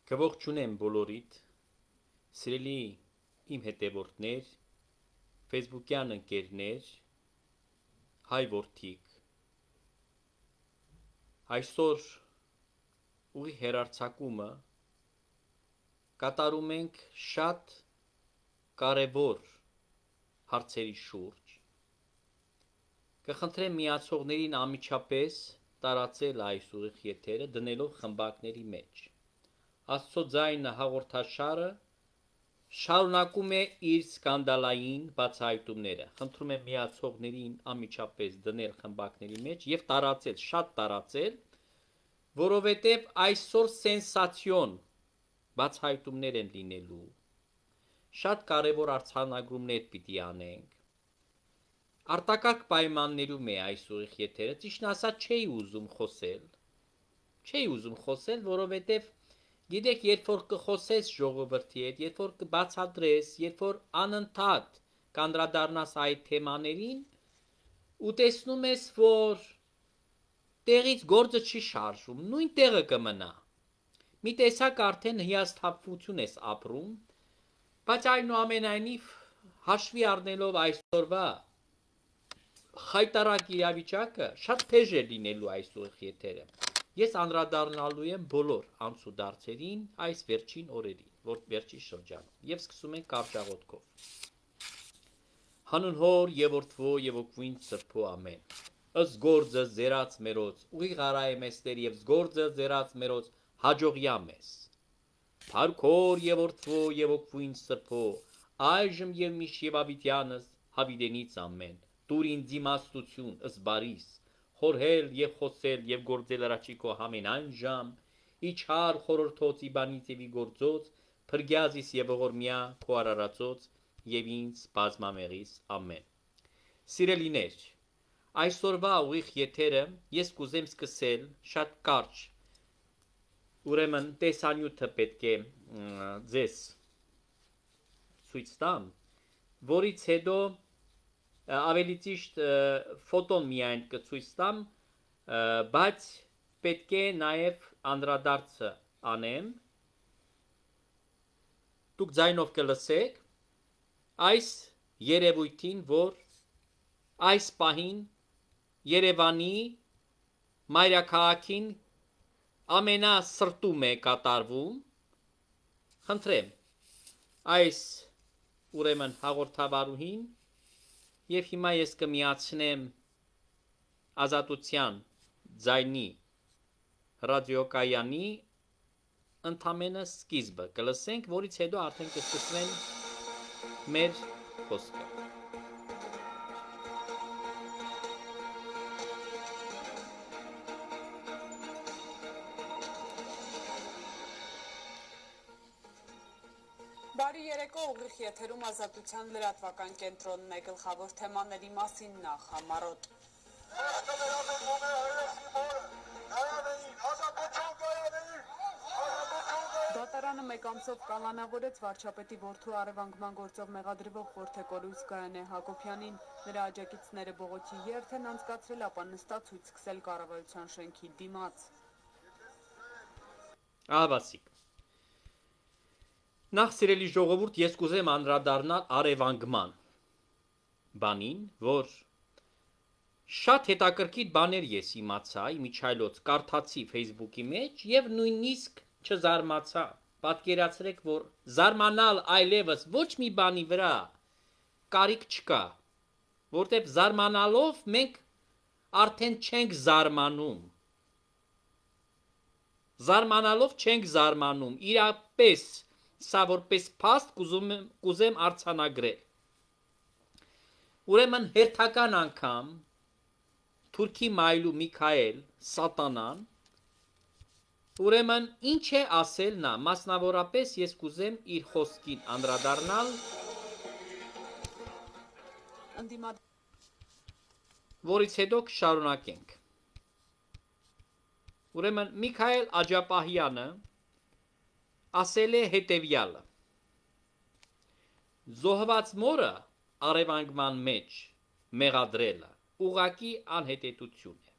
Կողջունեմ բոլորիդ, սիրելի իմ հետևորդներ, Facebook-յան ընկերներ, հայ որդիկ, այսօր ուղի հեռարձակումը կատարում ենք շատ կարևոր հարցերի շուրջ, կխնդրեմ միացողներին անմիջապես տարածել այս ուղիղ եթերը դնելով խմբակների մեջ, Աստծո ձայնը հաղորդաշարը շարունակում է իր սկանդալային բացահայտումները, խնդրում եմ միացողներին անմիջապես դնել խմբակների մեջ և տարածել, շատ տարածել, որովհետև այսօր սենսացիոն բացահայտումներ են լինելու, շատ կարևոր արձանագրումներ պիտի անենք, արտակարգ պայմաններում է այս ուղիղ եթերը, ճիշտն ասած չէի ուզում խոսել, որովհետև գիտեք, երբ որ կխոսես ժողովրդի հետ, երբ որ կբացատրես, երբ որ անընդհատ կանդրադառնաս այդ թեմաներին, ու տեսնում ես, որ տեղից գործը չի շարժվում, նույն տեղը կմնա, մի տեսակ արդեն հիասթափություն ես ապրում, բայց այնուամենայնիվ հաշվի առնելով այսօրվա խայտառակ իրավիճակը, շատ թեժ է լինելու այս ուղիղ եթերը, ես անդրադառնալու եմ բոլոր անցուդարձերին այս վերջին օրերին, վերջին շրջանում, և սկսում ենք կարճաղոթքով։ Հանուն Հոր և Որդվո և Օգնույն Սրբո ամեն։ Ըստ գործը ձերած մերոց, ուղիղ արայ մեստեր և զգործը ձերած մերոց հաջողյա մեզ։ Փառք Հոր և Որդվո և Օգնույն Սրբո, այժմ և միշտ և ավիտյանս հավիտենից ամեն։ Տուր ինձ իմաստություն, ըստ բարիս, խորհել և խոսել և գործել առաջիկո ամենայն ժամ, իջար խորհրդոց իբանից և իգործոց, փրկյազիս և ողորմյա քո արարածոց և ինձ բազմամեղիս ամեն։ Սիրելիներ, այսօրվա ուղիղ եթերը ես կուզեմ սկսել շատ կարճ, ուրեմն տեսանյութը պետք է ձեզ ցույց տամ, որից հետո ավելի ճիշտ ֆոտոն միայն կցույց տամ, բայց պետք է նաև անդրադարձը անեմ, դուք ձայնով կլսեք այս երևույթին, որ այս պահին Երևանի մայրաքաղաքին ամենասրտում է կատարվում, խնդրեմ այս ուրեմն հաղորդավարուհին և հիմա ես կմիացնեմ Ազատության ձայնի ռադիոկայանի ընդամենը սկիզբը կլսենք, որից հետո արդեն կսկսվեն մեր խոսքը։ Բարի երեկո, ուղիղ եթերում Ազատության լրատվական կենտրոնն է, գլխավոր թեմաների մասին նախ համառոտ։ Դատարանը մեկ ամսով կալանավորեց վարչապետի որդու առևանգման գործով մեղադրվող Խորթեկորույս Գայանե Հակոբյանին, նրա աջակիցները բողոքի երթ են անցկացրել, ապա նստած ցույց սկսել կառավարության շենքի դիմաց։ Ահավասիկ։ Նախ սիրելի ժողովուրդ, ես կուզեմ անդրադառնալ առևանգման բանին, որ շատ հետաքրքիր բաներ ես իմացա, իմիջայլոց կարդացի Facebook-ի մեջ և նույնիսկ չզարմացա, պատկերացրեք, որ զարմանալ այլևս ոչ մի բանի վրա կարիք չկա, որտև զարմանալով մենք արդեն չենք զարմանում, զարմանալով չենք զարմանում, իրապես սա որպես փաստ կուզեմ արձանագրել, ուրեմն հերթական անգամ Թուրքի մայլու Միքայել սատանան, ուրեմն ինչ է ասել նա, մասնավորապես ես կուզեմ իր խոսքին անդրադառնալ, որից հետո կշարունակենք։ Ուրեմն Միքայել Աջապահյանը ասել է հետևյալը. զոհված մորը առևանգման մեջ մեղադրելը ուղղակի անհետեթություն է։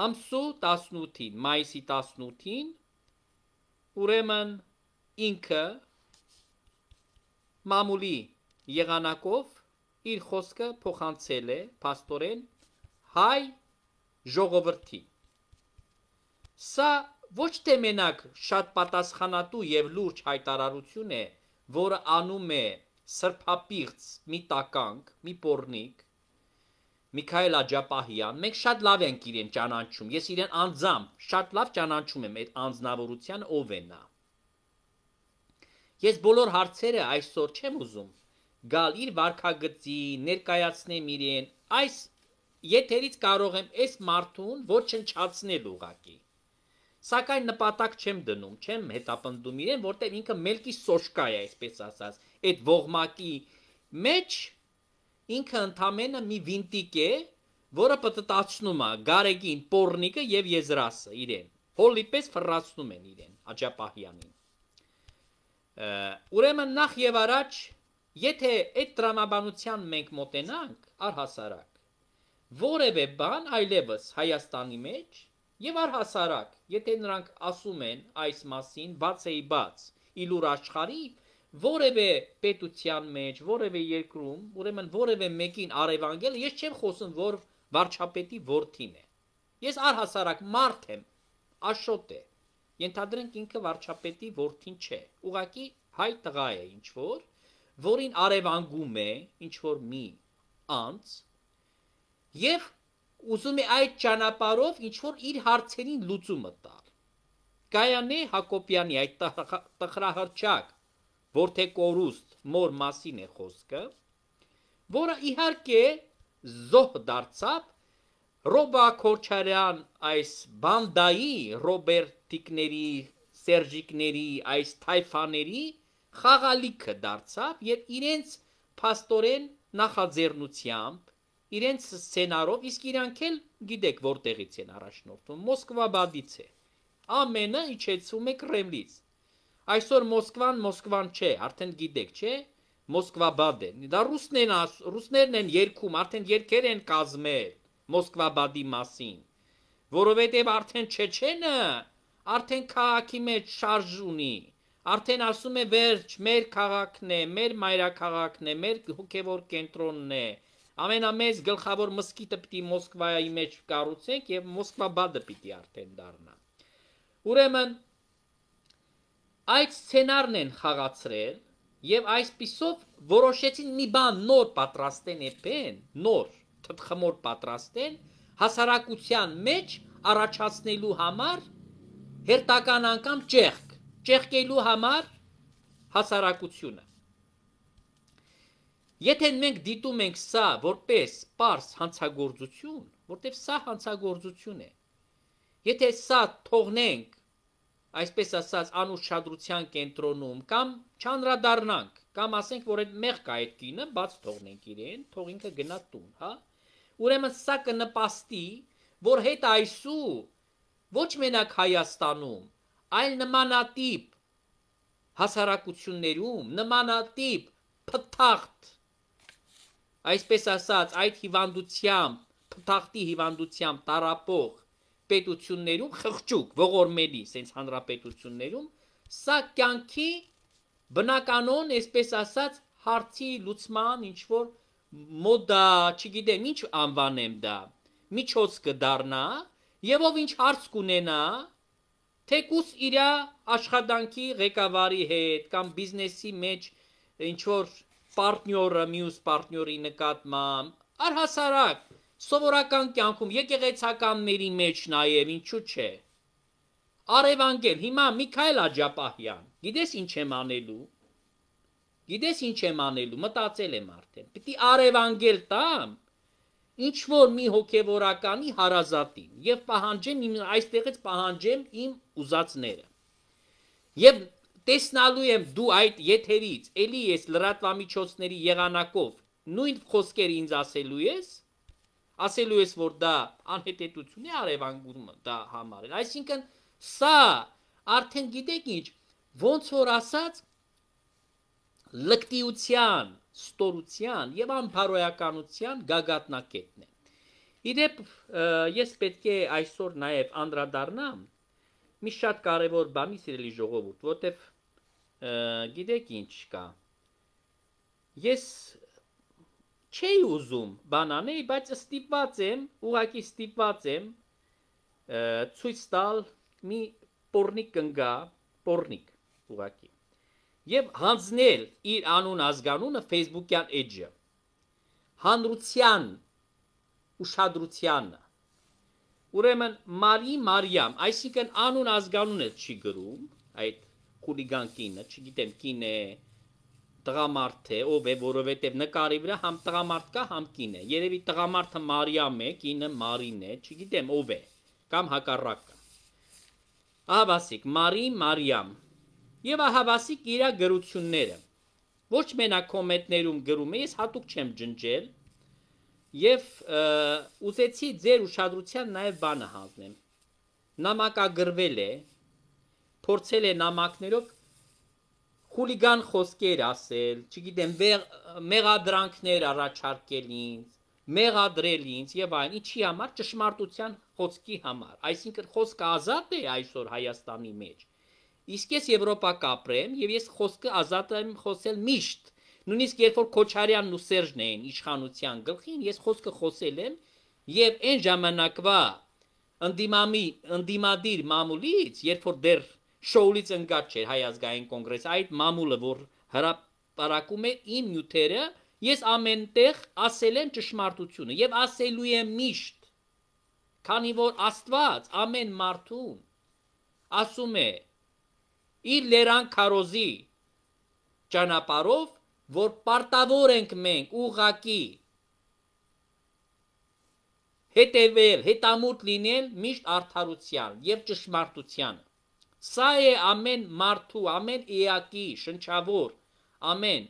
Ամսու 18-ին, մայիսի 18-ին ուրեմն ինքը մամուլի եղանակով իր խոսքը փոխանցել է փաստորեն հայ ժողովրդի։ Սա ոչ թե մենակ շատ պատասխանատու եւ լուրջ հայտարարություն է, որը անում է սրբապիղծ մի տականք, մի պոռնիկ, Միքայել Աջապահյան, մենք շատ լավ ենք իրեն ճանաչում, ես իրեն անձամբ շատ լավ ճանաչում եմ այդ անձնավորության ով է նա։ Ես բոլոր հարցերը այսօր չեմ ուզում գալ իր վարքագծի, ներկայացնեմ իրեն, այս եթերից կարող եմ այս մարդուն ոչնչացնել ուղղակի։ Սակայն նպատակ չեմ դնում, չեմ հետապնդում իրեն, որտեղ ինքը մելքի սոշկա է, այսպես ասած, այդ ողմակի մեջ ինքը ընդամենը մի վինտիկ է, որը պտտացնում է գարեգին պոռնիկը եւ եզրասը իրեն։ Հոլի պես ֆռացնում են իրեն Աջապահյանին։ Ուրեմն նախ եւ առաջ, եթե այդ տրամաբանության մենք մոտենանք առհասարակ, որևէ բան այլևս Հայաստանի մեջ եւ առհասարակ, եթե նրանք ասում են այս մասին բացեի բաց, իլուր աշխարհի որևէ պետության մեջ, որևէ երկրում, ուրեմն որևէ մեկին արևանգել, ես չեմ խոսում, որ վարչապետի որդին է։ Ես առհասարակ մարդ եմ, աշոտ է։ Ենթադրենք ինքը վարչապետի որդին չէ։ Ուղղակի հայ տղա է ինչ որ, որին արևանգում է ինչ որ մի անձ եւ ուզում է այդ ճանապարհով ինչ որ իր հարցերին լուծումը տալ։ Գայանե Հակոբյանի այդ տխրահրճակ որդեկորուստ մոր մասին է խոսքը, որը իհարկե զոհ դարձավ Ռոբա Քոչարյան այս բանդայի, Ռոբերտիկների, Սերժիկների, այս թայֆաների խաղալիքը դարձավ եւ իրենց փաստորեն նախաձեռնությամբ իրենց սցենարով, իսկ իրանք էլ գիտեք որտեղից են առաջնորդվում, Մոսկվաբադից է։ Ամենը իջեցում է Կրեմլից։ Այսօր Մոսկվան չէ, արդեն գիտեք, չէ, Մոսկվաբադ է։ Դա ռուսներն են երգում, արդեն երգեր են կազմել Մոսկվաբադի մասին, որովհետև արդեն Չեչենը արդեն քաղաքի մեջ շարժ ունի, արդեն ասում է վերջ, մեր քաղաքն է, մեր մայրաքաղաքն է, մեր հոգևոր կենտրոնն է, ամենամեծ գլխավոր մզկիթը պիտի Մոսկվայի մեջ կառուցենք եւ Մոսկվաբադը պիտի արդեն դառնա։ Ուրեմն այդ սցենարն են խաղացրել եւ այսպիսով որոշեցին մի բան նոր պատրաստեն էփեն, նոր թթխմոր պատրաստեն հասարակության մեջ առաջացնելու համար հերթական անգամ ճեղքելու համար հասարակությունը։ Եթե մենք դիտում ենք սա որպես պարզ հանցագործություն, որտեղ սա հանցագործություն է, եթե սա թողնենք, այսպես ասած, անուշադրության կենտրոնում կամ չանդրադառնանք, կամ ասենք, որ այդ մեղք է այդ կինը, բաց թողնենք իրեն, թող ինքը գնա տուն, հա? Ուրեմն սա կնպաստի, որ հետ այսու ոչ մենակ Հայաստանում, այլ նմանատիպ հասարակություններում, նմանատիպ փթախտ, այսպես ասած, այդ հիվանդությամբ, փթախտի հիվանդությամբ տարապող պետություններում խղճուկ, ողորմելի, սենց հանրապետություններում, սա կյանքի բնականon, այսպես ասած, հարցի լուծման ինչ-որ մոդա, չգիտեմ, ինչ անվանեմ դա, միջոց կդառնա, եւ ով ինչ հարց կունենա, թեկուս իրա աշխատանքի ղեկավարի հետ, կամ բիզնեսի մեջ ինչ-որ պարտնյորը, մյուս պարտնյորի նկատմամբ, առհասարակ, սովորական կյանքում, եկեղեցականների մեջ նաև, ինչու չէ, արևանգել, հիմա Միքայել Աջապահյան, գիտես ինչ եմ անելու, մտածել եմ արդեն, պիտի արևանգել տամ, ինչ-որ մի հոգևորականի հարազատին, և պահանջեմ, այստեղից պահանջեմ իմ ուզածները, և տեսնալու եմ դու այդ եթերից, էլի ես լրատվամիջոցների եղանակով, նույն խոսքեր ինձ ասելու ես, որ դա անհետետություն է արևանգում դա համարել, այսինքն սա արդեն գիտեք ինչ, ոնց որ ասած լկտիության, ստորության և անբարոյականության գագաթնակետն է։ Իդեպ ես պետք է այսօր նաև անդրադառնամ մի շատ կարևոր բանի սիրելի ժողովուրդ, որտեվ գիտեք ինչ կա։ Ես չէի ուզում բան անել, բայց ստիպված եմ, ուղղակի ստիպված եմ ցույց տալ մի պորնիկ կնգա, պորնիկ ուղղակի։ Եվ հանձնել իր անուն ազգանունը Facebook-յան էջը։ Հանրության ուշադրությանը։ Ուրեմն Մարի Մարիամ, այսինքն անուն ազգանունը չի գրում, այդ խուլիգան կինը, չգիտեմ կին է, տղամարդ է, ով է, որովհետև նկարի վրա համ տղամարդ կա, համ կին է։ Երևի տղամարդը Մարիամ է, կինը Մարին է, չգիտեմ ով է, կամ հակառակը։ Ահավասիկ Մարի Մարիամ եւ ահավասիկ իր գրությունները։ Ոչ մենակ կոմենտներում գրում է, ես հատուկ չեմ ջնջել եւ ուզեցի ձեր ուշադրության նաեւ բանը հանձնեմ։ Նամակագրվել է, փորձել է նամակներով խուլիգան խոսքեր ասել, չգիտեմ, մեղադրանքներ առաջարկել ինձ, մեղադրել ինձ եւ այն, ինչի համար ճշմարտության խոսքի համար։ Այսինքն խոսքը ազատ է այսօր Հայաստանի մեջ։ Իսկ ես Եվրոպա կապրեմ եւ ես խոսքը ազատ եմ խոսել միշտ։ Նույնիսկ երբ որ Քոչարյանն ու Սերժն էին իշխանության գլխին, ես խոսքը խոսել եմ եւ այն ժամանակվա ընդդիմադիր մամուլից, երբ որ դեռ շոուից ընկած չէր Հայ ազգային կոնգրեսը, այդ մամուլը, որ հրապարակում է իմ նյութերը, ես ամենտեղ ասել եմ ճշմարտությունը եւ ասելու եմ միշտ, քանի որ Աստված ամեն մարդուն ասում է իր լերան քարոզի ճանապարհով, որ պարտավոր ենք մենք ուղղակի հետևել, հետամուտ լինել միշտ արդարության եւ ճշմարտությանը։ Սա է ամեն մարդու, ամեն էակի շնչավոր, ամեն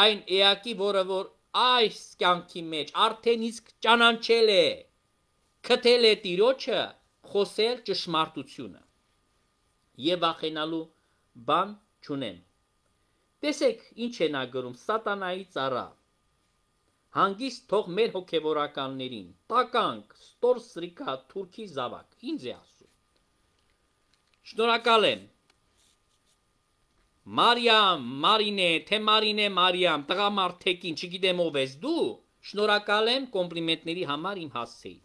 այն էակի, որը որ այս կյանքի մեջ արդեն իսկ ճանաչել է, քթել է Տիրոջը, խոսել ճշմարտությունը։ Եվ վախենալու բան չունեմ։ Տեսեք, ինչ է նա գրում, սատանայի ծառա։ Հանգիստ թող մեր հոգևորականներին, տականք, ստոր սրիկա, թուրքի զավակ, ինձ է ասում։ Շնորհակալ եմ։ Մարիամ, Մարինե, թե Մարինե, Մարիամ, տղամարդեկին, չգիտեմ ով ես դու, շնորհակալ եմ կոմպլիմենտների համար իմ հասցեին։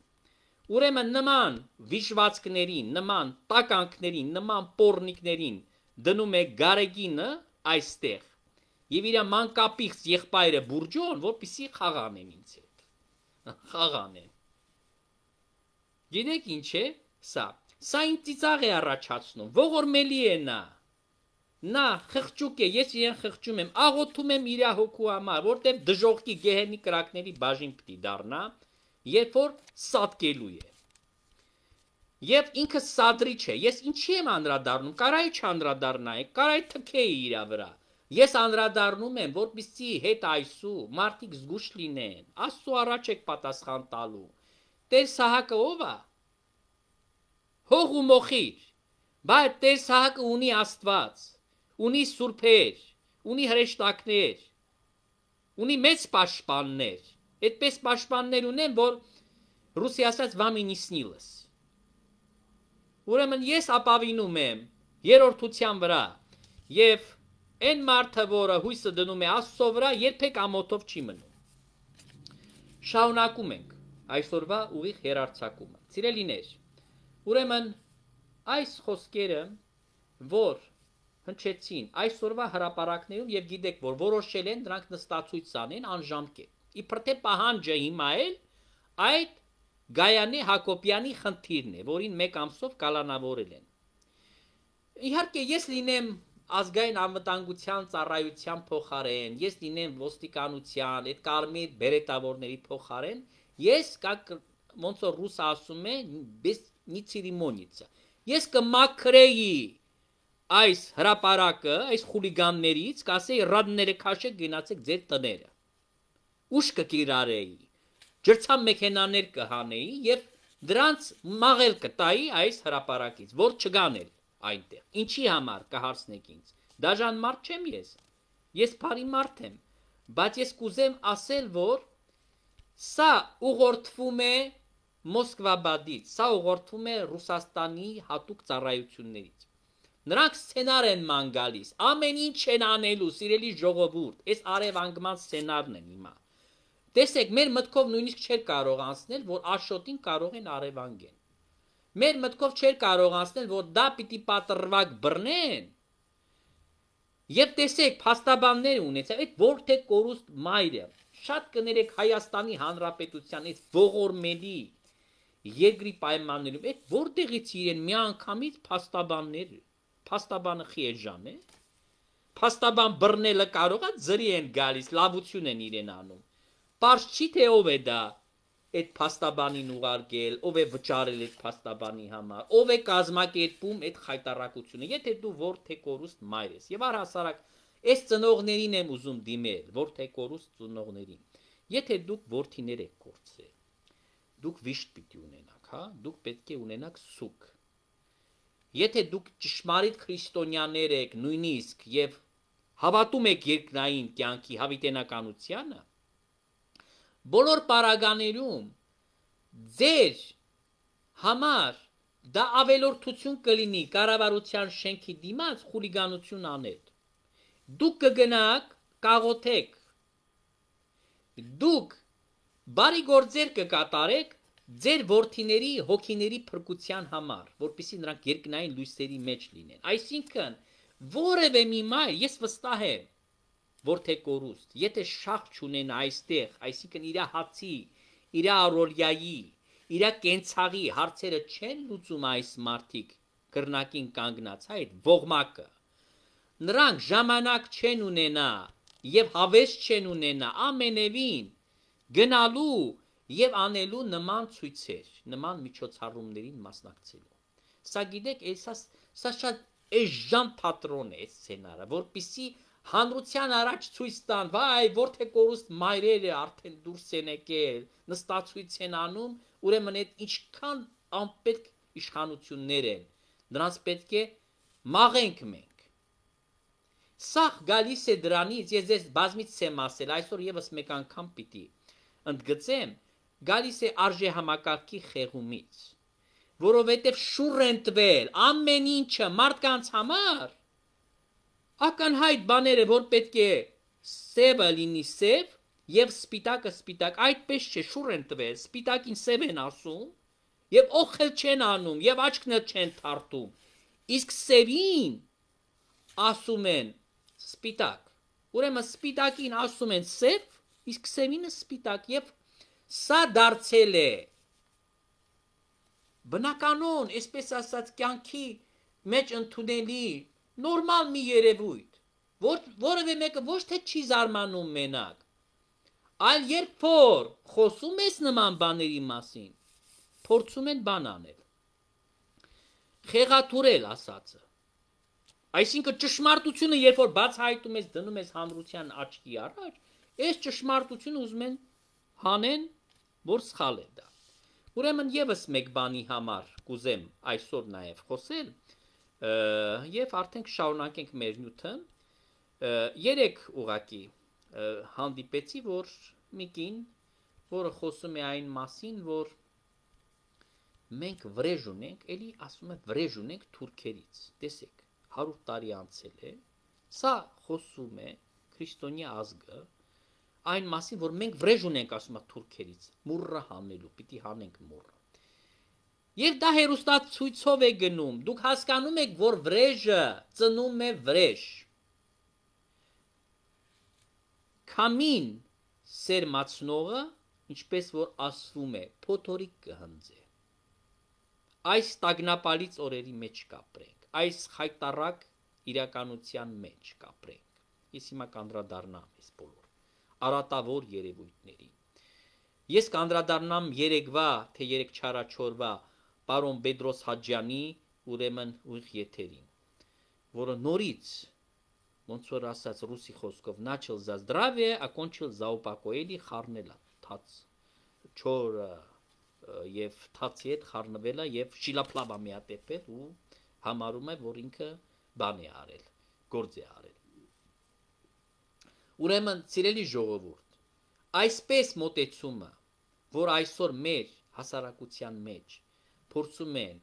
Ուրեմն նման վիժվածքներին, նման տականքներին, նման պորնիկներին դնում է Գարեգինը այստեղ եւ իր մանկապիղծ եղբայրը Բուրջոն, որպեսի խաղանեն ինձ հետ։ Խաղանեն։ Գիտեք ինչ է սա։ Սա ինձ ծիծաղ է առաջացնում, ողորմելի է նա։ Նա խղճուկ է, ես իրեն խղճում եմ, աղոթում եմ իր հոգու համար, որտեղ դժողքի գեհենի կրակների բաժին պիտի դառնա, երբ որ սատկելու է։ Եվ ինքը սադրիչ է, ես ինչի եմ անդրադառնում, կարայի չանդրադառնայի, կարայի թքեի իր վրա։ Ես անդրադառնում եմ, որպեսզի հետ այսու մարդիկ զգուշ լինեն, Աստծո առաջ եք պատասխան տալու։ Տեր Սահակը ով է։ Հող ու մոխիր, բայց Տեր Սահակը ունի Աստված, ունի սուրբեր, ունի հրեշտակներ, ունի մեծ պաշտպաններ, այդպես պաշտպաններ ունեն, որ ռուսի ասած վամի не снилось։ Ուրեմն ես ապավինում եմ երրորդության վրա եւ այն մարդը, որը հույսը դնում է Աստծո վրա, երբեք ամոթով չի մնում։ Շարունակում ենք այսօրվա ուղիղ հերարցակումը։ Սիրելիներ, ուրեմն այս խոսքերը, որ հնչեցին այսօրվա հրապարակներում եւ գիտեք, որ որոշել են դրանք նստացույց անեն անժամկետ։ Իբր թե պահանջը հիմա էլ այդ Գայանե Հակոբյանի խնդիրն է, որին 1 ամսով կալանավորել են։ Իհարկե ես լինեմ ազգային անվտանգության ծառայության փոխարեն, ես լինեմ ոստիկանության, այդ կարմիր բերետավորների փոխարեն, ես ոնց որ ռուսը ասում է, без нецеремониться։ Ես կմաքրեի այս հրապարակը, այս խուլիգաններից, կասեի ռադները քաշեք գնացեք ձեր տները։ Ուշ կկիրարեի, ջրցան մեքենաներ կհանեի եւ դրանց մաղել կտայի այս հրապարակից, որ չգանել այնտեղ։ Ինչի համար կհարցնեք ինձ։ Դաժան մարդ չեմ ես բարի մարդ եմ, բայց ես կուզեմ ասել, որ սա ուղղորդվում է Մոսկվաբադից, սա ուղղորդվում է Ռուսաստանի հատուկ ծառայություններից։ Նրանք սցենար են ման գալիս, ամեն ինչ են անելու, սիրելի ժողովուրդ, այս արևանգման սցենարն են հիմա։ Տեսեք, մեր մտքով նույնիսկ չէր կարող անցնել, որ Աշոտին կարող են արևանգեն։ Մեր մտքով չէր կարող անցնել, որ դա պիտի պատրվակ բռնեն։ Եվ տեսեք, փաստաբաններ ունեցավ, այդ որթե կորուստ մայրը, շատ կներեք Հայաստանի Հանրապետության այդ ողորմելի երկրի պայմաններում, այդ որտեղից իրեն միանգամից փաստաբանը խիեժան է, փաստաբան բռնելը կարող է ձրի են գալիս, լավություն են իրեն անում։ Պարզ չի թե ով է դա այդ փաստաբանին ուղարկել, ով է վճարել այդ փաստաբանի համար, ով է կազմակերպում այդ խայտարակությունը, եթե դու որթե կորուստ մայր ես։ Եվ առհասարակ այս ծնողներին եմ ուզում դիմել, որթե կորուստ ծնողներին։ Եթե դուք որդիներ եք կորցրել, դուք վիշտ պիտի ունենաք, հա, դուք պետք է ունենաք սուկ։ Եթե դուք ճշմարիտ քրիստոնյաներ եք, նույնիսկ եւ հավատում եք երկնային կյանքի հավիտենականությանը, բոլոր պարագաներում ձեր համար դա ավելորդություն կլինի կառավարության շենքի դիմաց խուլիգանություն անել։ Դուք կգնաք, կաղոթեք, դուք բարի գործեր կկատարեք ձեր որդիների հոգիների փրկության համար, որպեսզի նրանք երկնային լույսերի մեջ լինեն։ Այսինքն, որևէ մի մայր, ես վստահ եմ, որթե կորուստ, եթե շախ չունենա այստեղ, այսինքն իր հացի, իր առօրյայի, իր կենցաղի հարցերը չեն լուծում այս մարդիկ կրնակին կանգնած, այդ ողմակը։ Նրանք ժամանակ չեն ունենա եւ հավես չեն ունենա ամենևին գնալու եւ անելու նման ցույցեր, նման միջոցառումներին մասնակցելու։ Սա գիտեք, սա շատ էժան թատրոն է, այս սցենարը, որպեսզի հանրության առաջ ցույց տան, վայ, որթե կորուստ մայրերը արդեն դուրս են եկել, նստացույց են անում, ուրեմն այդ ինչքան անպետք իշխանություններ են, նրանց պետք է մաղենք մենք։ Սա գալիս է դրանից, ես ձեզ բազմից եմ ասել, այսօր եւս մեկ անգամ պիտի ընդգծեմ, գալիս է արժե համակարգի խեղումից, որովհետև շուռ են տվել ամեն ինչը մարդկանց համար, ականհայտ բաները, որ պետք է սևը լինի սև եւ սպիտակը սպիտակ, այդպես չէ, շուռ են տվել, սպիտակին սև են ասում եւ օխել չեն անում եւ աչքներ չեն թարթում, իսկ սևին ասում են սպիտակ։ Ուրեմն սպիտակին ասում են սև, իսկ սևինը սպիտակ եւ սա դարձել է բնականon, այսպես ասած, կյանքի մեջ ընդունելի նորմալ մի երևույթ, որևէ մեկը ոչ թե չի զարմանում մենակ, այլ երբ որ խոսում ես նման բաների մասին, փորձում են բան անել, խեղաթուրել ասածը, այսինքն ճշմարտությունը երբ որ բացահայտում ես, դնում ես հանրության աչքի առաջ, այս ճշմարտությունը ուզում են հանեն, որ սխալ է դա։ Ուրեմն եւս մեկ բանի համար կուզեմ այսօր նաեւ խոսել, եւ արդեն կշարունակենք մեր նյութը, երեք ուղակի հանդիպեցի, որ մի կին, որը խոսում է այն մասին, որ մենք վրեժ ունենք, էլի ասում է վրեժ ունենք թուրքերից, տեսեք, 100 տարի անցել է, սա խոսում է քրիստոնյա ազգը, այն մասին, որ մենք վրեժ ունենք, ասում է թուրքերից, մուրը հանելու, պիտի հանենք մուրը։ Եվ դա հերոստացույցով է գնում, դուք հասկանում եք, որ վրեժը ծնում է վրեժ։ Քամին սերմացնողը, ինչպես որ ասվում է, փոթորիկ կհնձե։ Այս տագնապալից օրերի մեջ կապրենք, այս խայտարակ իրականության մեջ կապրենք։ Ես հիմա կանդրադառնամ այս բոլոր արատավոր երևույթներին։ Ես կանդրադառնամ երեկվա, թե երեք չարաչորվա պարոն Պետրոս Հաջյանի ուրեմն ուղիղ եթերին, որը նորից, ոնց որ ասած ռուսի խոսքով, начал за здравие, окончил за упокоение խառնելա, թաց, չոր եւ թացի հետ խառնվելա եւ շիլապլավա միատեպել ու համարում է, որ ինքը բան է արել, գործ է արել։ Ուրեմն, սիրելի ժողովուրդ, այսպես մոտեցումը, որ այսօր մեր հասարակության մեջ փորձում են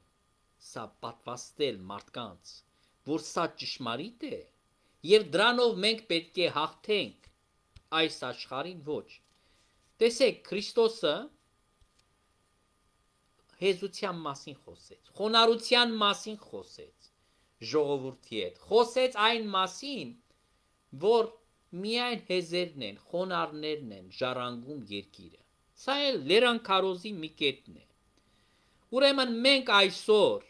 սա պատվաստել մարդկանց, որ սա ճշմարիտ է, եւ դրանով մենք պետք է հաղթենք այս աշխարհին, ոչ։ Տեսեք, Քրիստոսը հեզության մասին խոսեց, խոնարհության մասին խոսեց, ժողովրդի հետ, խոսեց այն մասին, որ միայն հեզերն են, խոնարհներն են ժառանգում երկիրը։ Սա էլ լերան քարոզի մի կետն է։ Ուրեմն մենք այսօր,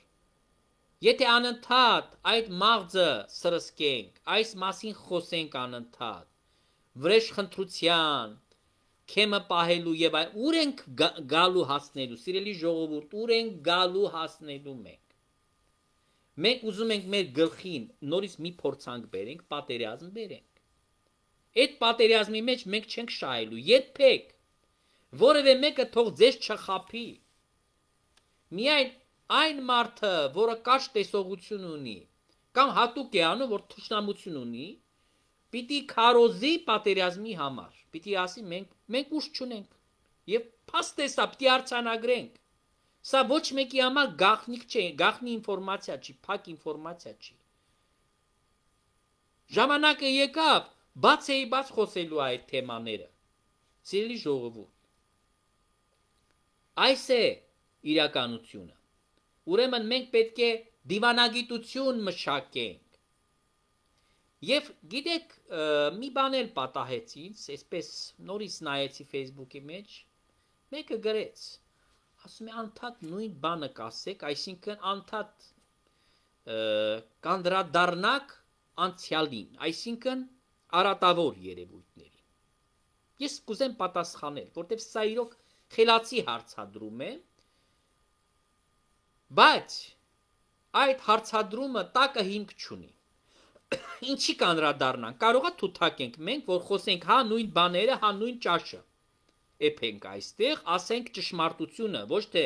եթե անընդհատ այդ մաղձը սրսկենք, այս մասին խոսենք անընդհատ, վրեժխնդրության, քեմը պահելու եւ այլ, ուր ենք գալու հասնելու, սիրելի ժողովուրդ, ուր ենք գալու հասնելու մենք։ Մենք ուզում ենք մեր գլխին նորից մի փորձանք բերենք, պատերազմ բերենք։ Այդ պատերազմի մեջ մենք չենք շահելու, երբեք որևէ մեկը թող ձեզ չխաբի։ Միայն այն մարդը, որը կարճ տեսողություն ունի, կամ հատուկ է անում, որ թշնամություն ունի, պիտի քարոզի պատերազմի համար, պիտի ասի մենք ուժ չունենք, եւ փաստ է սա, պիտի արձանագրենք։ Սա ոչ մեկի համար գաղտնիք չէ, գաղտնի ինֆորմացիա չի, փակ ինֆորմացիա չի։ Ժամանակը եկավ, բաց խոսելու այդ թեմաները։ Սիրելի ժողովուրդ, այս է իրականությունը։ Ուրեմն մենք պետք է դիվանագիտություն մշակենք։ Եվ գիտեք, մի բան էլ պատահեց ինձ, այսպես նորից նայեցի Facebook-ի մեջ, մեկը գրեց, ասում է անդադ նույն բանը կասեք, այսինքն անդադ կանդրադառնաք անցյալին, այսինքն արատավոր երևույթներին։ Ես կուզեմ պատասխանել, որտեղ սա իրոք խելացի հարցադրում է, բայց այդ հարցադրումը տակը հիմք չունի։ Ինչի կանրադառնանք, կարողա թութակենք մենք, որ խոսենք հա նույն բաները, հա նույն ճաշը։ Էփենք այստեղ, ասենք ճշմարտությունը, ոչ թե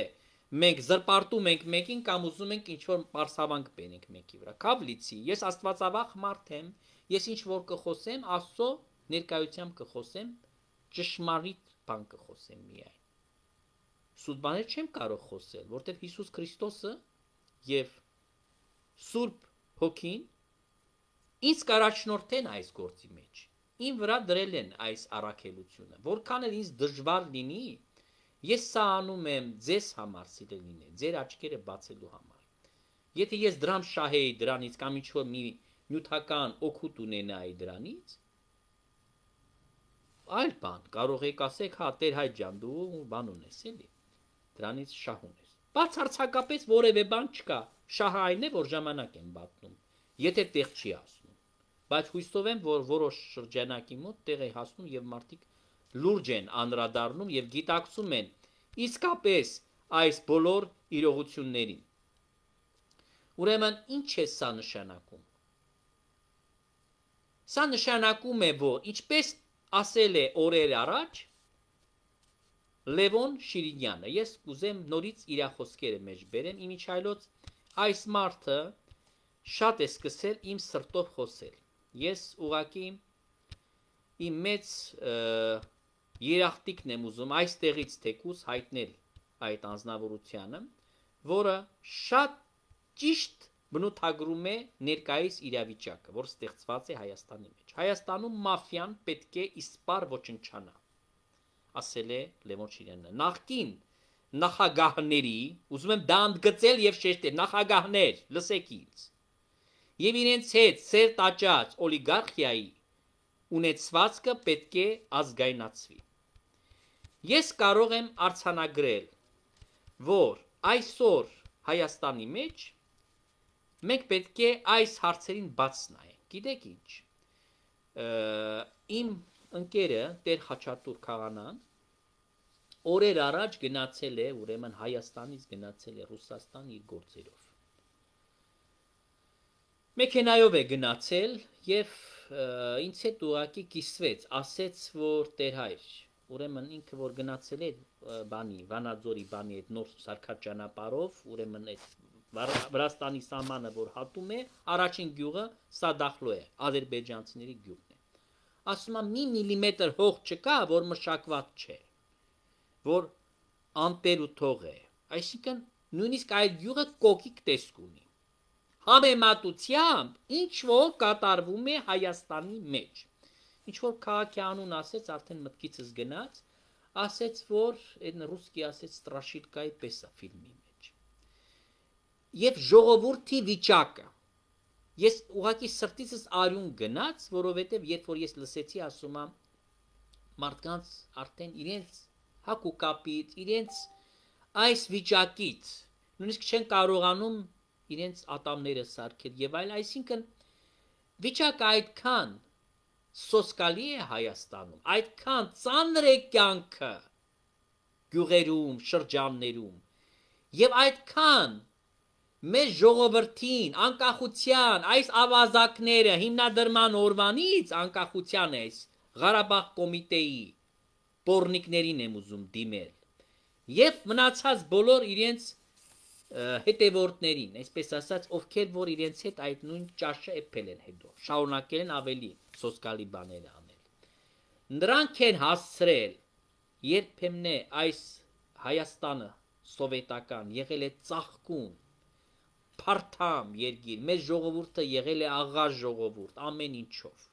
մենք զրպարտում ենք մեկին կամ ուզում ենք ինչ-որ պարսավանք բերենք մեկի վրա։ Քավլիցի, ես աստվածավախ մարդ եմ, ես ինչ որ կխոսեմ, Աստծո ներկայությամբ կխոսեմ, ճշմարիտ բան կխոսեմ միայն։ Սուտ բաներ չեմ կարող խոսել, որտեղ Հիսուս Քրիստոսը եւ Սուրբ Հոգին ինձ կառաջնորդեն այս գործի մեջ։ Իմ վրա դրել են այս առաքելությունը, որքան էլ ինձ դժվար լինի, ես սա անում եմ ձեզ համար, սիրելիներ, ձեր աչքերը բացելու համար։ Եթե ես դրամ շահեի դրանից կամ ինչ-որ մի նյութական օգուտ ունենայի դրանից, այլ բան, կարող եք ասեք, հա, Տեր Հայր ջան, դու բան ունես, էլի, դրանից շահ ունես։ Բացարձակապես որևէ բան չկա, շահը այն է, որ ժամանակ են պատնում, եթե տեղ չի հասնում։ Բայց հույսով եմ, որ որոշ շրջանակի մոտ տեղ է հասնում եւ մարդիկ լուրջ են անդրադառնում եւ գիտակցում են իսկապես այս բոլոր իրողություններին։ Ուրեմն ինչ է սա նշանակում։ Սա նշանակում է, որ ինչպես ասել է օրեր առաջ Լևոն Շիրինյանը, ես կուզեմ նորից իր խոսքերը մեջ բերեմ, իմիջայլոց այս մարդը շատ է սկսել իմ սրտով խոսել։ Ես ուղղակի իմ մեծ երախտիկն եմ ուզում այստեղից թեկուզ հայտնել այդ անձնավորությանը, որը շատ ճիշտ բնութագրում է ներկայիս իրավիճակը, որ ստեղծված է Հայաստանի մեջ։ Հայաստանում մաֆիան պետք է իսպառ ոչնչանա, ասել է Լևոն Շիրինյանը։ Նախկին նախագահների, ուզում եմ դա ընդգծել եւ շեշտել, նախագահներ, լսեք ինձ, եւ իրենց հետ սեր տաճած օլիգարխիայի ունեցվածքը պետք է ազգայնացվի։ Ես կարող եմ արձանագրել, որ այսօր Հայաստանի մեջ մենք պետք է այս հարցերին բաց նայենք։ Գիտեք ինչ, իմ ընկերը Տեր Խաչատուր Քաղանան օրեր առաջ գնացել է, ուրեմն Հայաստանից գնացել է Ռուսաստան իր գործերով։ Մեքենայով է գնացել եւ ինձ հետ ուղակի կիսվեց, ասեց, որ Տեր Հայր, ուրեմն ինքը որ գնացել է բանի, Վանաձորի բանի այդ նոր սարքած ճանապարհով, ուրեմն այդ Վրաստանի սահմանը որ հատում է, առաջին գյուղը Սադախլո է, ադրբեջանցիների գյուղն է։ Ասում եմ մի միլիմետր հող չկա, որ մշակված չէ, որ անտեր ու թող է, այսինքն նույնիսկ այդ գյուղը կոկիկ տեսք ունի։ Համեմատությամբ ինչ որ կատարվում է Հայաստանի մեջ։ Ինչ որ քաղաքի անուն ասեց, արդեն մտքիցս գնաց, ասեց, որ այն ռուսկի ասեց Ստրաշիլկայի պես է ֆիլմի մեջ։ Եվ ժողովրդի վիճակը։ Ես ուղղակի սրտիցս արյուն գնաց, որովհետև երբ որ ես լսեցի, ասում եմ, մարդկանց արդեն իրենց հակուկապից, իրենց այս վիճակից, նույնիսկ չեն կարողանում իրենց ատամները սարքել եւ այլ, այսինքն վիճակը այդքան սոսկալի է Հայաստանում, այդքան ծանր է կյանքը գյուղերում, շրջաններում եւ այդքան մեր ժողովրդին անկախության այս ավազակները հիմնադրման օրվանից անկախության այս Ղարաբաղ կոմիտեի պորնիկներին եմ ուզում դիմել եւ մնացած բոլոր իրենց հետևորդներին, այսպես ասած, ովքեր որ իրենց հետ այդ նույն ճաշը էփել են հետո, շարունակել են ավելի սոսկալի բաներ անել։ Նրանք են հասցրել, երբեմն է այս Հայաստանը սովետական եղել է ծաղկուն, փարթամ երկիր, մեր ժողովուրդը եղել է աղա ժողովուրդ, ամեն ինչով։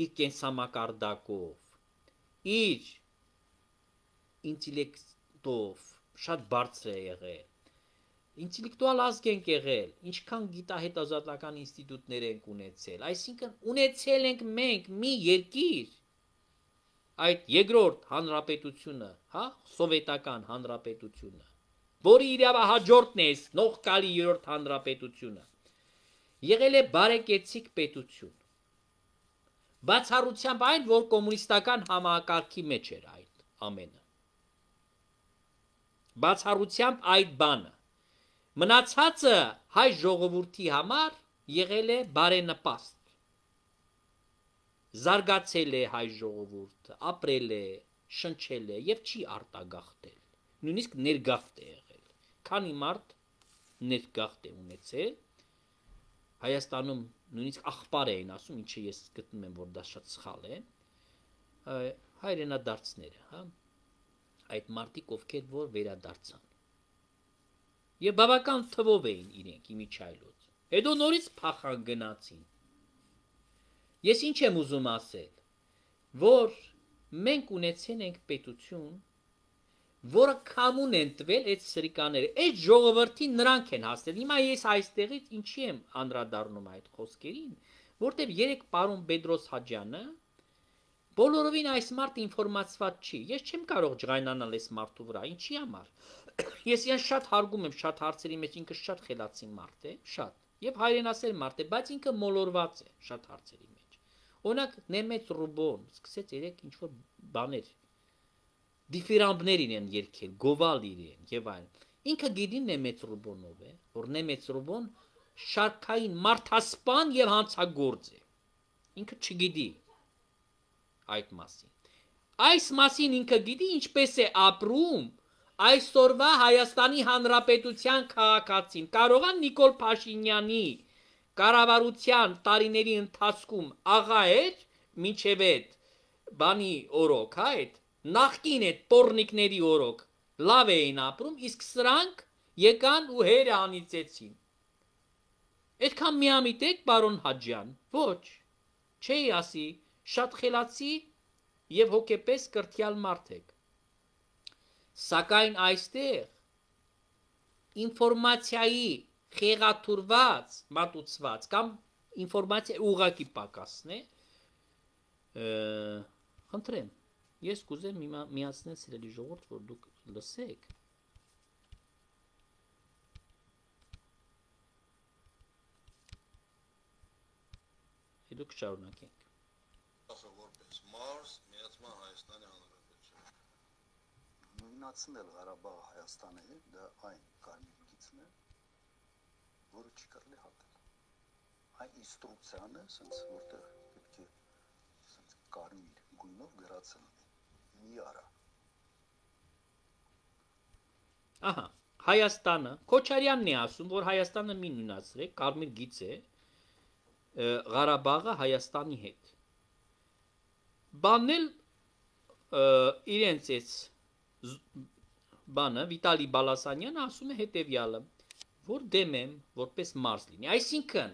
Իր կենսամակարդակով, իր ինտելեկտով շատ բարձր է եղել։ Ինտելեկտուալ ազգ ենք եղել, ինչքան գիտահետազոտական ինստիտուտներ ենք ունեցել, այսինքն ունեցել ենք մենք մի երկիր, այդ երկրորդ հանրապետությունը, հա, սովետական հանրապետությունը, որի իրավահաջորդն է նողկալի երրորդ հանրապետությունը, եղել է բարեկեցիկ պետություն։ Բացառությամբ այն, որ կոմունիստական համակարգի մեջ էր այդ ամենը։ Բացառությամբ այդ բանը։ Մնացածը հայ ժողովրդի համար եղել է բարենպաստ։ Զարգացել է հայ ժողովուրդը, ապրել է, շնչել է եւ չի արտագաղթել։ Նույնիսկ ներգաղթ է եղել։ Քանի մարդ ներգաղթ է ունեցել։ Հայաստանում նույնիսկ աղբար էին ասում, ինչը ես գտնում եմ, որ դա շատ սխալ է։ Հայրենադարձները, հա։ Այդ մարդիկ, ովքեր որ վերադարձան։ Եվ բավական թվով էին իրենք իմիջայլոց։ Հետո նորից փախան գնացին։ Ես ինչ եմ ուզում ասել, որ մենք ունեցել ենք պետություն, որը կամուն են տվել այդ սրիկաները, այդ ժողովրդին նրանք են հասնել։ Հիմա ես այստեղից ինչի եմ անդրադառնում այդ խոսքերին, որտեղ երեք պարոն Բեդրոս Հաջյանը բոլորովին այս մարդը ինֆորմացված չի։ Ես չեմ կարող ջղայնանալ այս մարդու վրա, ինչի համար։ Ես իրեն շատ հարգում եմ, շատ հարցերի մեջ ինքը շատ խելացի մարդ է, շատ։ Եվ հայրենասեր մարդ է, բայց ինքը մոլորված է շատ հարցերի մեջ։ Օրինակ Նեմեծ Ռուբոն սկսեց երեք ինչ-որ բաներ դիֆիրամբներ իրեն երկել, գովալ իրեն եւ այլն։ Ինքը գիտի Նեմեծ Ռուբոնով է, որ Նեմեծ Ռուբոն շարքային մարդասպան եւ հանցագործ է։ Ինքը չգիտի այդ մասին։ Այս մասին ինքը գիտի ինչպես է ապրում այսօրվա Հայաստանի Հանրապետության քաղաքացին։ Կարողա Նիկոլ Փաշինյանի կառավարության տարիների ընթացքում աղա էր մինչև այդ բանի օրոք, հա, այդ նախկին այդ պորնիկների օրոք լավ էին ապրում, իսկ սրանք եկան ու հերը անիծեցին։ Այդքան միամիտ եք, պարոն Հաջյան, ոչ, չէի ասի, շատ խելացի եւ հոգեպես կրթյալ մարդ եք։ Սակայն այստեղ ինֆորմացիայի խեղաթուրված, մատուցված կամ ինֆորմացիա ուղղակի պակասն է, խնդրեմ, ես կուզեմ միացնել սիրելի ժողովուրդ, որ դուք լսեք։ Հետո կշարունակենք։ Որպես Մարս միացման Հայաստանի Հանրապետություն։ Նույնացնել Ղարաբաղը Հայաստանի հետ, դա այն կարմիր գիծն է, որը չի կարելի հատել։ Այն ինստրուկցիան է, ասենց որտեղ պետք է ասենց կարմիր գույնով գրածել մի արա։ Ահա, Հայաստանը, Քոչարյանն է ասում, որ Հայաստանը մի նույնացրեք, կարմիր գիծ է, Ղարաբաղը Հայաստանի հետ։ Բանն էլ իրենց էս բանը Վիտալի Բալասանյանը ասում է հետևյալը, որ դեմ եմ որպես մարզ լինի։ Այսինքն,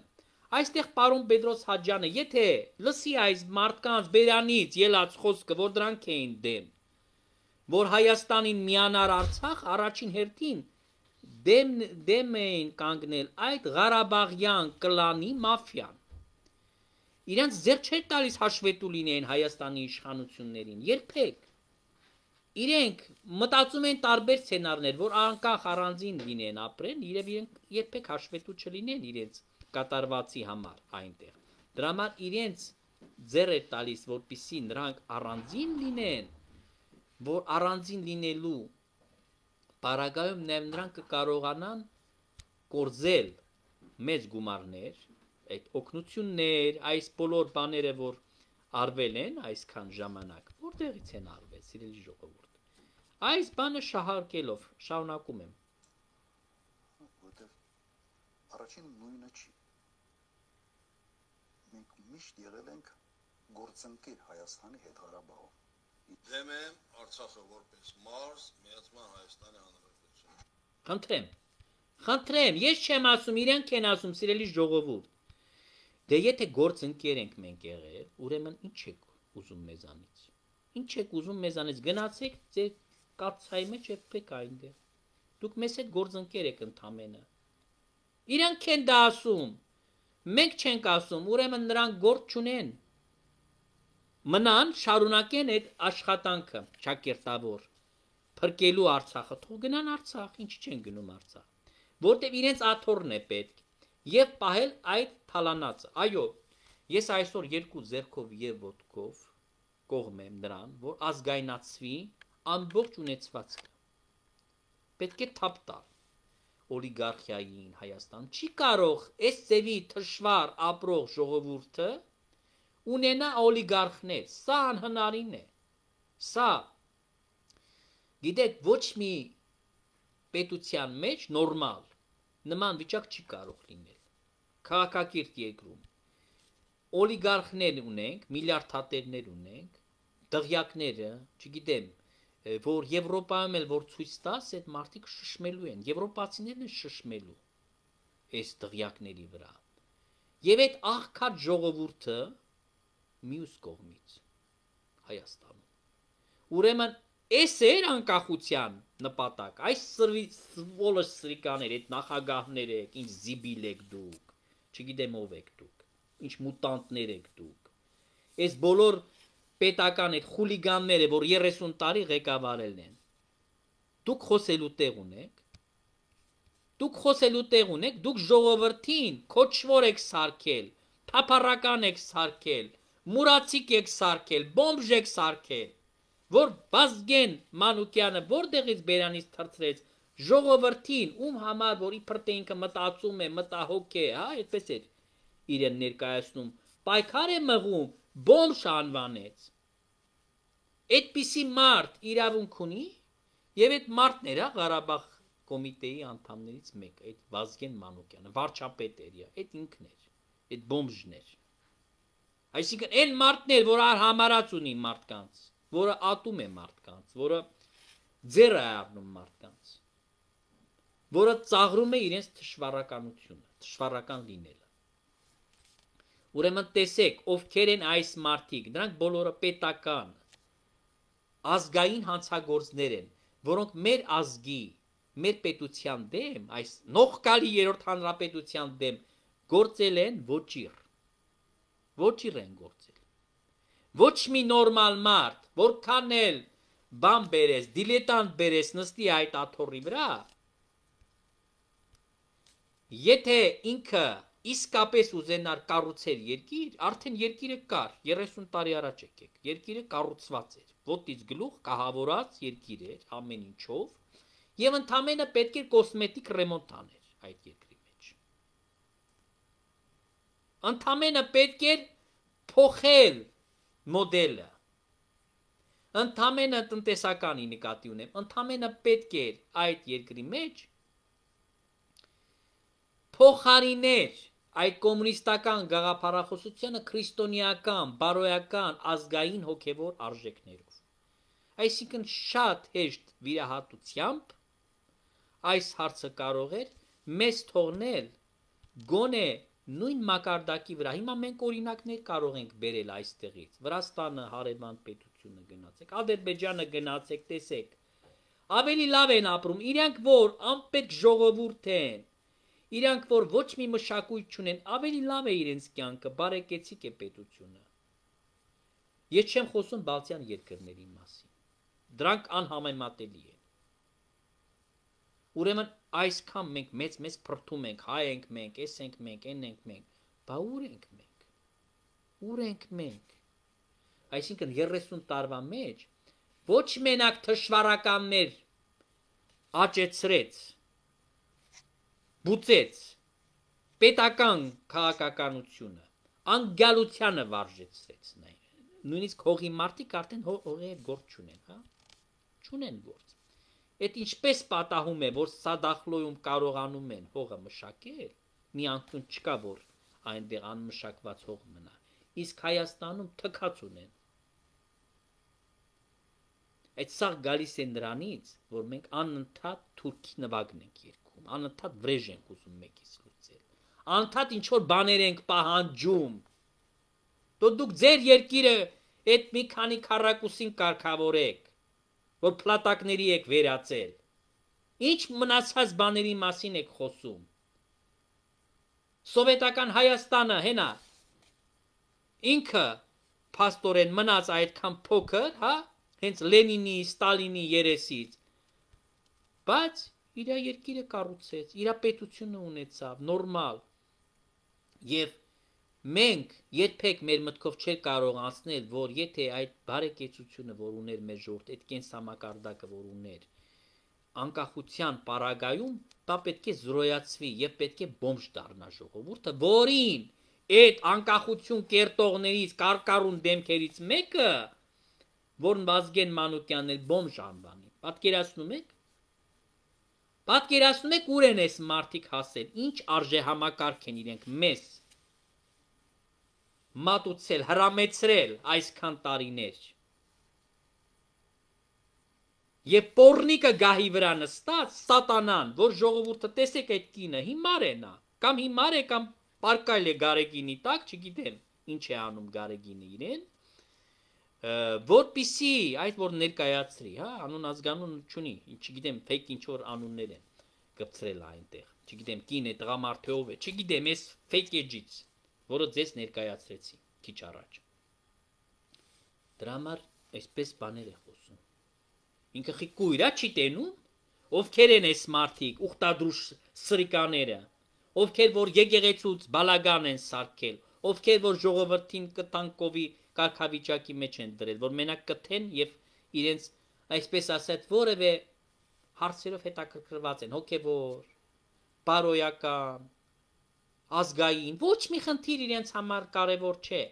այստեղ պարոն Պետրոս Հաջյանը, եթե լսի այս մարդկանց բերանից ելած խոսքը, որ դրանք էին դեմ, որ Հայաստանին միանար Արցախ, առաջին հերթին դեմ էին կանգնել այդ Ղարաբաղյան կլանի մաֆիան։ Իրենց ձեռ չէր տալիս հաշվետու լինեին Հայաստանի իշխանություններին, երբեք։ Իրենք մտածում են տարբեր սցենարներ, որ անկախ առանձին լինեն ապրեն, իրենք երբեք հաշվետու չլինեն իրենց կատարվածի համար այնտեղ։ Դրա համար իրենց ձեռ է տալիս, որպեսզի նրանք առանձին լինեն, որ առանձին լինելու պարագայում նաև նրանք կկարողանան կորզել մեծ գումարներ, այդ օգնություններ, այս բոլոր բաները, որ արվել են այսքան ժամանակ, որտեղից են արվել, սիրելի ժողովուրդ։ Այս բանը շահարկելով շարունակում եմ։ Որտեղ առաջին նույնը չի։ Մենք միշտ եղել ենք գործընկեր Հայաստանի հետ Ղարաբաղում։ Դեմ եմ Արցախը որպես մարզ միացման Հայաստանի Հանրապետություն։ Խնդրեմ, ես չեմ ասում, իրենք են ասում, սիրելի ժողովուրդ։ Դե եթե գործընկեր ենք մենք եղել, ուրեմն ինչ եք ուզում մեզանից։ Ինչ եք ուզում մեզանից, գնացեք ձեր կացայի մեջ եպեք այնտեղ։ Դուք մեզ հետ գործընկեր եք ընդամենը։ Իրանք են դա ասում։ Մենք չենք ասում, ուրեմն նրանք գործ չունեն։ Մնան շարունակեն այդ աշխատանքը ճակերտավոր փրկելու Արցախը, թող գնան Արցախ, ինչ չեն գնում Արցախ, որտեղ իրենց աթոռն է պետք եւ պահել այդ թալանացը։ Այո, ես այսօր երկու ձեռքով եւ ոտքով կողմ եմ նրան, որ ազգայնացվի ամբողջ ունեցվածքը։ Պետք է թափ տալ օլիգարխիային Հայաստան։ Չի կարող այս ծևի թշվառ ապրող ժողովուրդը ունենա օլիգարխներ, սա անհնարին է, սա, գիտեք, ոչ մի պետության մեջ նորմալ, նման վիճակ չի կարող լինել, քաղաքակիրթ երկրում, օլիգարխներ ունենք, միլիարդատերներ ունենք, դղյակները, չգիտեմ, որ Եվրոպայում էլ որ ցույց տաս, այդ մարդիկ շշմելու են, եվրոպացիներն են շշմելու այս դղյակների վրա, և այդ աղքատ ժողովուրդը մյուս կողմից Հայաստանում։ Ուրեմն այս էր անկախության նպատակ, այս սվոլոս սրիկաներ, այդ նախագահներ եք, ինչ զիբիլ եք դուք, չգիտեմ ով եք դուք, ինչ մուտանտներ եք դուք, այս բոլոր պետական այդ խուլիգանները, որ 30 տարի ղեկավարել են, դուք խոսելու տեղ ունեք, դուք ժողովրդին քոչվոր եք սարքել, թափառական եք սարքել, մուրացիկ եք սարքել, բոմժ եք սարքել, որ Վազգեն Մանուկյանը որտեղից բերանից թրծրեց ժողովրդին, ում համար, որ իբր թե ինքը մտածում է, մտահոգ է, հա, այդպես էր իրեն ներկայացնում, պայքար է մղում, բոմժ անվանեց։ Այդպիսի մարդ իրավունք ունի, եւ այդ մարդն էր, Ղարաբաղ կոմիտեի անդամներից մեկը, այդ Վազգեն Մանուկյանը, վարչապետ էր, այդ ինքն էր, այդ բոմժն էր։ Այսինքն այն մարդներ, որ համարած ունի մարդկանց, որը ատում է մարդկանց, որը ձեռ է առնում մարդկանց, որը ծաղրում է իրենց թշվառականությունը, թշվառական լինելը։ Ուրեմն տեսեք, ովքեր են այս մարդիկ, դրանք բոլորը պետական, ազգային հանցագործներ են, որոնք մեր ազգի, մեր պետության դեմ, այս նողկալի երրորդ հանրապետության դեմ գործել են ոչիր են գործել։ Ոչ մի նորմալ մարդ, որքան էլ բան բերես, դիլետանտ բերես նստի այդ աթոռի վրա, եթե ինքը իսկապես ուզենար կառուցել երկիր, արդեն երկիրը կար, 30 տարի առաջ եկեք, երկիրը կառուցված էր, ոտից գլուխ կահավորած երկիր էր, ամեն ինչով, եւ ընդամենը պետք էր կոսմետիկ ռեմոնտ աներ այդ երկրի մեջ։ Ընդամենը պետք էր փոխել մոդելը, ընդամենը տնտեսականի նկատի ունեմ, ընդամենը պետք էր այդ երկրի մեջ փոխարիներ այդ կոմունիստական գաղափարախոսությանը քրիստոնեական, բարոյական, ազգային հոգևոր արժեքներով։ Այսինքն շատ հեշտ վիրահատությամբ այս հարցը կարող էր մեզ թողնել գոնե նույն մակարդակի վրա։ Հիմա մենք օրինակներ կարող ենք բերել այստեղից։ Վրաստանը, հարևան պետությունը գնացեք, Ադրբեջանը գնացեք, տեսեք։ Ավելի լավ են ապրում, իրանք որ անպետք ժողովուրդ են, իրանք որ ոչ մի մշակույթ չունեն, ավելի լավ է իրենց կյանքը, բարեկեցիկ է պետությունը։ Ես չեմ խոսում բալթյան երկրների մասին։ Դրանք անհամեմատելի են։ Ուրեմն այսքան մենք մեծ փրթում ենք, հայ ենք մենք, էս ենք մենք, են ենք մենք, բա ուր ենք մենք։ Ուր ենք մենք։ Այսինքն 30 տարվա մեջ ոչ մենակ թշվառականներ աճեցրեց, բուծեց պետական քաղաքականությունը, անգալությանը վարժեցրեց նույնիսկ հողի մարդիկ արդեն հողի հետ գործ չունեն, հա? Չունեն գործ։ Այդ ինչպես պատահում է, որ Սադախլոյում կարողանում են հողը մշակել, մի անկյուն չկա, որ այնտեղ անմշակված հող մնա, իսկ Հայաստանում թքած ունեն։ Այդ սա գալիս է նրանից, որ մենք անընդհատ թուրքի նվագն ենք երգում, անընդհատ վրեժ ենք ուզում մեկից լուծել, անընդհատ ինչ-որ բաներ ենք պահանջում։ Դուք ձեր երկիրը այդ մի քանի քառակուսին կարգավորեք, որ փլատակների եք վերածել։ Ինչ մնացած բաների մասին եք խոսում։ Սովետական Հայաստանը հենա ինքը փաստորեն մնաց այդքան փոքր, հա, հենց Լենինի, Ստալինի երեսից, բայց իր երկիրը կառուցեց, իր պետությունը ունեցավ, նորմալ։ Եվ մենք երբեք մեր մտքով չէր կարող անցնել, որ եթե այդ բարեկեցությունը, որ ուներ մեր ժողովուրդը, այդ կենսամակարդակը, որ ուներ, անկախության պարագայում, դա պետք է զրոյացվի եւ պետք է բոմժ դառնա ժողովուրդը, որին այդ անկախություն կերտողներից, կարկառուն դեմքերից մեկը, որն Վազգեն Մանուկյանն էլ բոմժ անվանի։ Պատկերացնում եք։ Պատկերացնում եք ուր են այս մարդիկ հասել, ինչ արժեհամակարգ են իրենք մեզ մատուցել, հրամեցրել այսքան տարիներ։ Եվ պոռնիկը գահի վրա նստած, սատանան, որ ժողովուրդը տեսեք այդ կինը, հիմար է նա, կամ հիմար է, կամ պարկայլ է Գարեգինի տակ, չգիտեմ ինչ է անում Գարեգինը իրեն, որպիսի այդ որ ներկայացրի, հա, անուն ազգանուն չունի, չգիտեմ fake ինչ որ անուններ են գծրել այնտեղ, չգիտեմ կին է, տղամարդ է, ով է, չգիտեմ այս fake edge-ից, որը ձեզ ներկայացրեցի քիչ առաջ։ Դրա համար այսպես բաներ է խոսում։ Ինքը խիկույր է չի տենում, ովքեր են այս մարդիկ, ուխտադրուշ սրիկաները, ովքեր որ եկեղեցուց բալագան են սարքել, ովքեր որ ժողովրդին կտանկովի կարգավիճակի մեջ են դրել, որ մենակ կթեն եւ իրենց այսպես ասած որևէ հարցերով հետաքրքրված են, հոգեվոր, բարոյական, ազգային, ոչ մի խնդիր իրենց համար կարևոր չէ։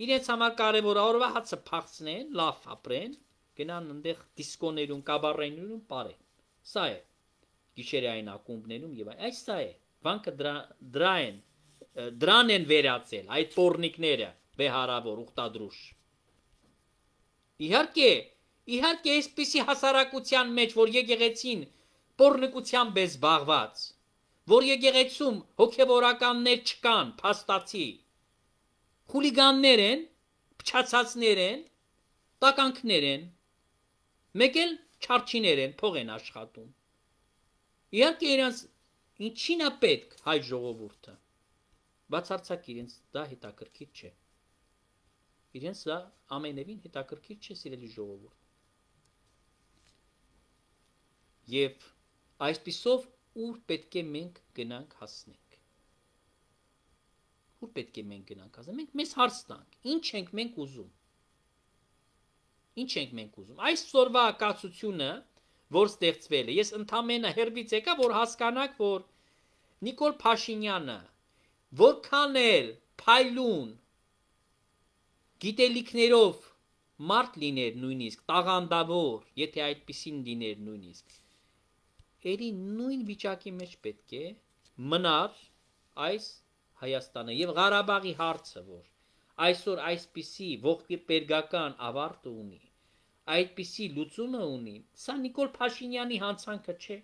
Իրենց համար կարևոր է օրվա հացը փախցնեն, լավ ապրեն, գնան այնտեղ դիսկոներում, կաբարեներում ապրեն։ Սա է գիշերային ակումբներում եւ այս սա է։ Վանքը դրան են վերածել այդ պոռնիկները, վեհարավոր, ուխտադրուշ։ Իհարկե այսպիսի հասարակության մեջ, որ եկեղեցին պոռնիկությամբ է զբաղված, որ եկեղեցում հոգևորականներ չկան, փաստացի, խուլիգաններ են, փչացածներ են, տականքներ են, մեկ էլ չարչիներ են, փող են աշխատում։ Իհարկե իրենց ինչին է պետք հայ ժողովուրդը, բացարձակ իրենց դա հետաքրքիր չէ։ Իրենց դա ամենևին հետաքրքիր չէ, սիրելի ժողովուրդ։ Եվ այսպիսով ուր պետք է մենք գնանք հասնենք։ Ուր պետք է մենք գնանք հասնենք։ Մենք մեզ հարց տանք, ինչ ենք մենք ուզում։ Ինչ ենք մենք ուզում։ Այսօրվա ակացությունը, որ ստեղծվել է, ես ընդամենը հերվից եկա, որ հասկանաք, որ Նիկոլ Փաշինյանը որքան էլ փայլուն գիտելիքներով մարդ լիներ նույնիսկ, տաղանդավոր, եթե այդպիսին լիներ նույնիսկ, երի նույն վիճակի մեջ պետք է մնար այս Հայաստանը եւ Ղարաբաղի հարցը, որ այսօր այսպիսի ողբերգական ավարտ ունի, այդպիսի լուծումը ունի, սա Նիկոլ Փաշինյանի հանցանքը չէ։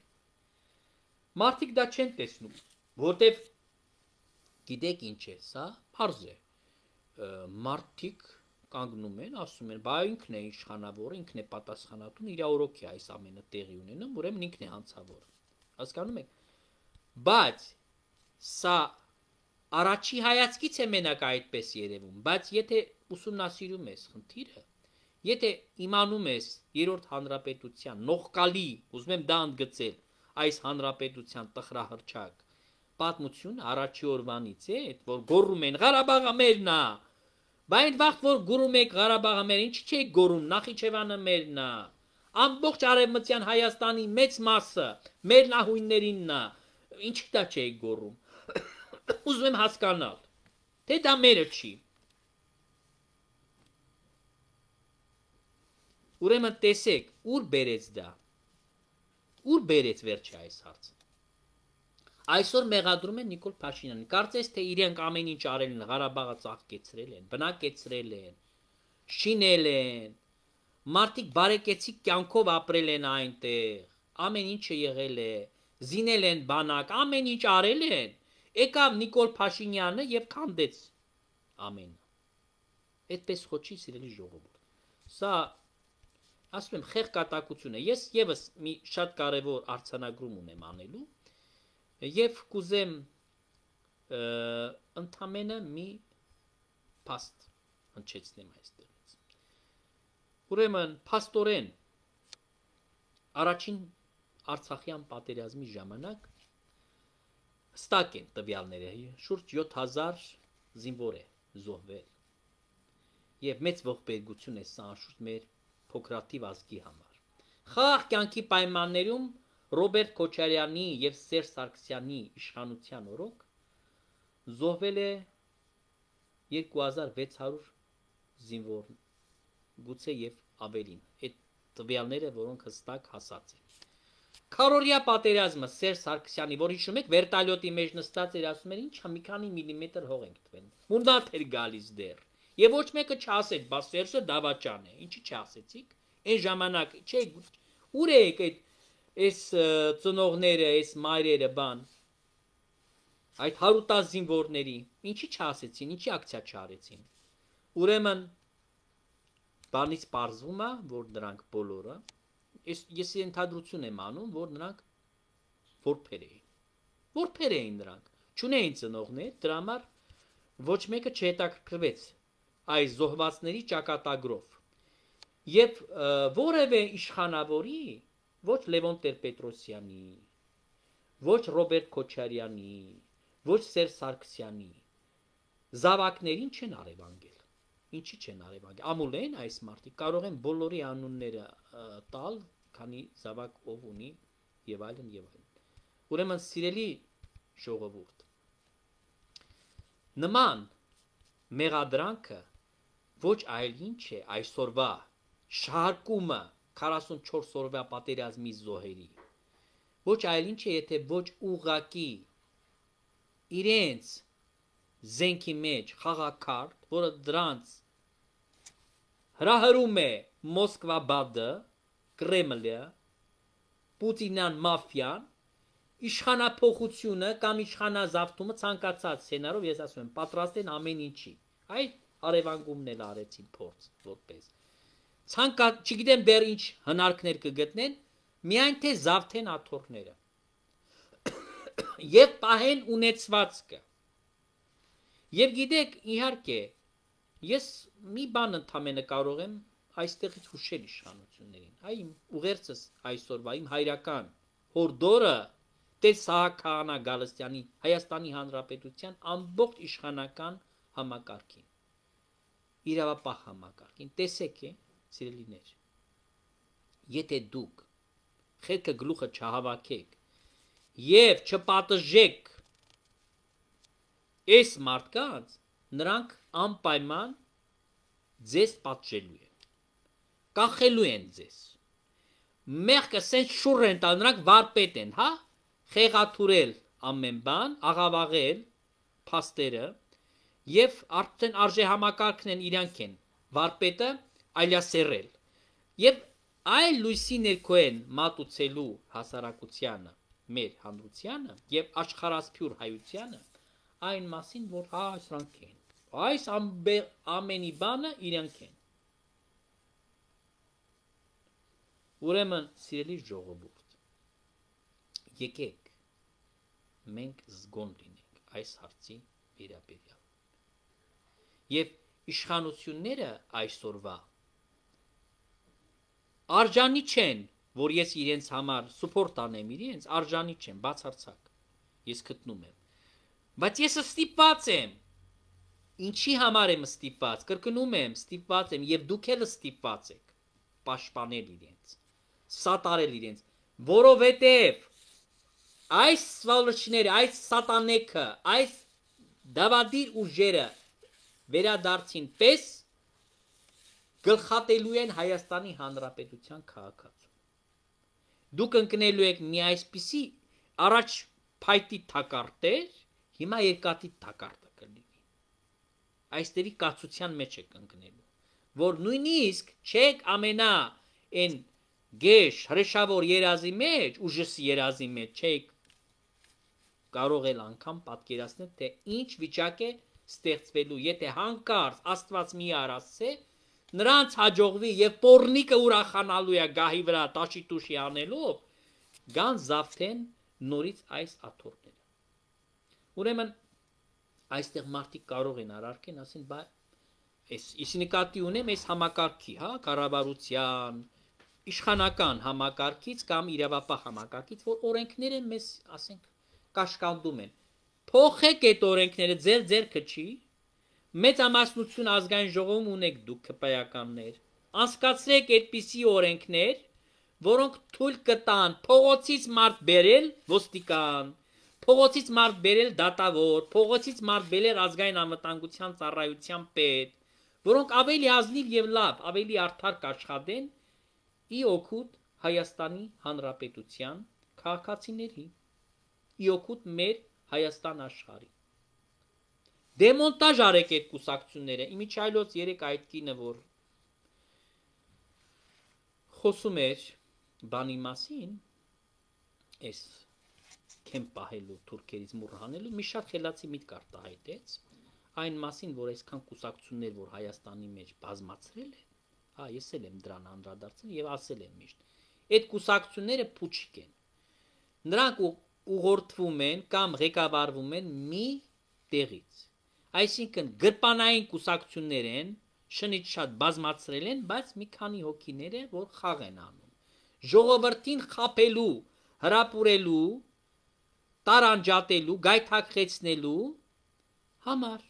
Մարդիկ դա չեն տեսնում, որտեվ գիտեք ինչ է, սա պարզ է։ Մարդիկ կանգնում են, ասում են, բա ինքն է իշխանավորը, ինքն է պատասխանատուն, իր օրոք է այս ամենը տեղի ունենում, ուրեմն ինքն է հանցավորը։ Հասկանում եք։ Բայց սա առաջի հայացքից է մենակ այդպես երևում, բայց եթե ուսումնասիրում ես խնդիրը, եթե իմանում ես երրորդ հանրապետության նողկալի, ուզում եմ դա ընդգծել, այս հանրապետության տխրահռչակ պատմություն առաջի օրվանից է, որ գոռում են Ղարաբաղը մերն է, բայց այն վաղ որ գոռում եք Ղարաբաղը մեր, ինչի՞ չեք գոռում, Նախիջևանը մերն է, ամբողջ արևմտյան Հայաստանի մեծ մասը մեր նահույններինն է, ինչի՞ դա չեք գոռում։ Ուզում եմ հասկանալ, թե դա մերը չի։ Ուրեմն տեսեք, ուր բերեց դա։ Ուր բերեց վերջի այս հարցը։ Այսօր մեղադրում են Նիկոլ Փաշինյանին։ Կարծես թե իրենք ամեն ինչ արել են, Ղարաբաղը ծաղկեցրել են, բնակեցրել են, շինել են, մարդիկ բարեկեցիկ կյանքով ապրել են այնտեղ, ամեն ինչը եղել է, զինել են բանակ, ամեն ինչ արել են, եկավ Նիկոլ Փաշինյանը եւ քանդեց ամենը։ Այդպես խոչի սիրելի ժողովուրդ։ Սա ասում եմ խեղկատակություն է։ Ես եւս մի շատ կարևոր արձանագրում ունեմ անելու եւ կուզեմ ընդամենը մի փաստ հնչեցնեմ այստեղից։ Ուրեմն փաստորեն առաջին Արցախյան պատերազմի ժամանակ հստակ են տվյալները, շուրջ 7000 զինվոր է զոհվել եւ մեծ ողբերգություն է սա անշուշտ մեր փոքրաթիվ ազգի համար։ Խաղաղ կյանքի պայմաններում Ռոբերտ Քոչարյանի եւ Սերժ Սարգսյանի իշխանության օրոք զոհվել է 2600 զինվոր, գուցե եւ ավելին։ Այդ տվյալները, որոնք հստակ հասած են։ Քարորիա պատերազմը Սերժ Սարգսյանի, որ հիշում եք, վերտալյոտի մեջ նստած էր, ասում էր, ինչա մի քանի միլիմետր հող ենք տվել։ Մունդատ էր գալիս դեռ։ Եվ ոչ մեկը չասեց, բա Սերժը դավաճան է։ Ինչի՞ չասեցիք։ Այն ժամանակ, չէ, ուր եք այս ծնողները, այս մայրերը բան։ Այդ 110 զինվորների, ինչի՞ չասեցին, ինչի ակցիա չարեցին։ Ուրեմն բանից պարզվում է, որ նրանք բոլորը, ես ենթադրություն եմ անում, որ նրանք որբեր էին։ Որբեր էին նրանք, չունեին ծնողներ, դրա համար ոչ մեկը չհետաքրքրվեց այս զոհվածների ճակատագրով։ Եվ որևէ իշխանավորի, ոչ Լևոն Տեր-Պետրոսյանի, ոչ Ռոբերտ Քոչարյանի, ոչ Սերժ Սարգսյանի զավակներին չեն արևանգել։ Ինչի չեն արևանգել։ Ամուլ են այս մարդիկ, կարող են բոլորի անունները տալ, քանի զավակ ով ունի եւ այլն եւ այլն։ Ուրեմն սիրելի ժողովուրդ, նման մեղադրանքը ոչ այլ ինչ է այսօրվա շահարկումը 44 օրվա պատերազմի զոհերի։ Ոչ այլ ինչ է, եթե ոչ ուղղակի իրենց զենքի մեջ խաղակարդ, որը դրանց հրահրում է Մոսկվա-Բադը, Կրեմլը, Պուտինյան մաֆիան, իշխանափոխությունը կամ իշխանազավթումը ցանկացած սցենարով, ես ասում եմ, պատրաստ են ամեն ինչի։ Այդ արևանգումն էլ արեցին փորձ որպես։ Չգիտեմ դեռ ինչ հնարքներ կգտնեն, միայն թե զավթեն աթոռները եւ պահեն ունեցվածքը։ Եվ գիտեք, իհարկե, ես մի բան ընդամենը կարող եմ այստեղից հուշել իշխանություններին։ Այ իմ ուղերձս այսօրվա իմ հայրական հորդորը Տեր Սահակյանա Գալստյանի Հայաստանի Հանրապետության ամբողջ իշխանական համակարգին, իրավապահ համակարգին, տեսեք է, սիրելիներ, եթե դուք խելքը գլուխը չհավաքեք եւ չպատժեք այս մարդկանց, նրանք անպայման ձեզ պատժելու են, կախելու են ձեզ, մեղքը սենց շուռ են տալ, նրանք վարպետ են, հա, խեղաթուրել ամեն բան, աղավաղել փաստերը եւ արդեն արժե համակարգն են իրանք են, վարպետը այլասերել, Եվ այլ լույսի ներքոեն մատուցելու հասարակությանը, մեր հանրությանը եւ աշխարհասփյուր հայությանը այն մասին, որ սրանք են։ Այս ամենի բանը իրենք են։ Ուրեմն, սիրելի ժողովուրդ, եկեք մենք զգոն լինենք այս հարցի վերաբերյալ։ Եվ իշխանությունները այսօրվա արժանի չեն, որ ես իրենց համար սուպորտ անեմ իրենց, արժանի չեն, բացարձակ, ես գտնում եմ, բայց ես ստիպված եմ, ինչի համար եմ ստիպված, կրկնում եմ, ստիպված եմ, և դուք էլ ստիպված եք, պաշտպանել իրենց, սատարել իրենց, որովհետև այս սվալոչները, այս սատանեքը, այս դավադիր ուժերը վերադարձին պես գլխատելու են Հայաստանի Հանրապետության քաղաքացու։ Դուք ընկնելու եք մի այսպիսի առաջ փայտի թակարդեր, հիմա երկաթի թակարդը կլինի։ Այստեղի կացության մեջ եք ընկնելու, որ նույնիսկ չեք ամենա այն գեշ հրեշավոր երազի մեջ, ուժս երազի մեջ չեք կարող էլ անգամ պատկերացնել, թե ինչ վիճակ է ստեղծվելու, եթե հանկարծ Աստված մի արասցե նրանց հաջողվի եւ պորնիկը ուրախանալու է գահի վրա տաշի տուշի անելով, գան զավթեն նորից այս աթոռները։ Ուրեմն այստեղ մարդիկ կարող են արարքեն, ասեն, բա ես նկատի ունեմ այս համակարգի, կառավարության, իշխանական համակարգից կամ իրավապահ համակարգից, որ օրենքները մեզ, ասենք, կաշկանդում են։ Փոխեք այդ օրենքները, ձեր ձեռքը չի։ Մեծամասնություն ազգային ժողովում ունեք դուք քպայականներ, անցկացրեք այդպիսի օրենքներ, որոնք թույլ կտան փողոցից մարդ բերել ոստիկան, փողոցից մարդ բերել դատավոր, փողոցից մարդ բերել ազգային անվտանգության ծառայության պետ, որոնք ավելի ազնիվ եւ լավ, ավելի արդար կաշխատեն ի օգուտ Հայաստանի Հանրապետության քաղաքացիների, ի օգուտ մեր Հայաստան աշխարհի։ Դեմոնտաժ արեք այդ կուսակցությունները, իմիջայլոց երեք այդ կինը, որ խոսում էր բանի մասին, այս քեմ պահելու, թուրքերից մուրհանելու, մի շատ խելացի միտք արտահայտեց, այն մասին, որ այսքան կուսակցություններ, որ Հայաստանի մեջ բազմացրել են, ես էլ եմ դրան անդրադարձել եւ ասել եմ միշտ, այդ կուսակցությունները փուչիկ են, նրանք ուղղորդվում են կամ ղեկավարվում են մի տեղից, այսինքն գրպանային կուսակցություններ են, շնից շատ բազմացրել են, բայց մի քանի հոգիներ են, որ խաղ են անում, ժողովրդին խաբելու, հրապուրելու, տարանջատելու, գայթակղեցնելու համար,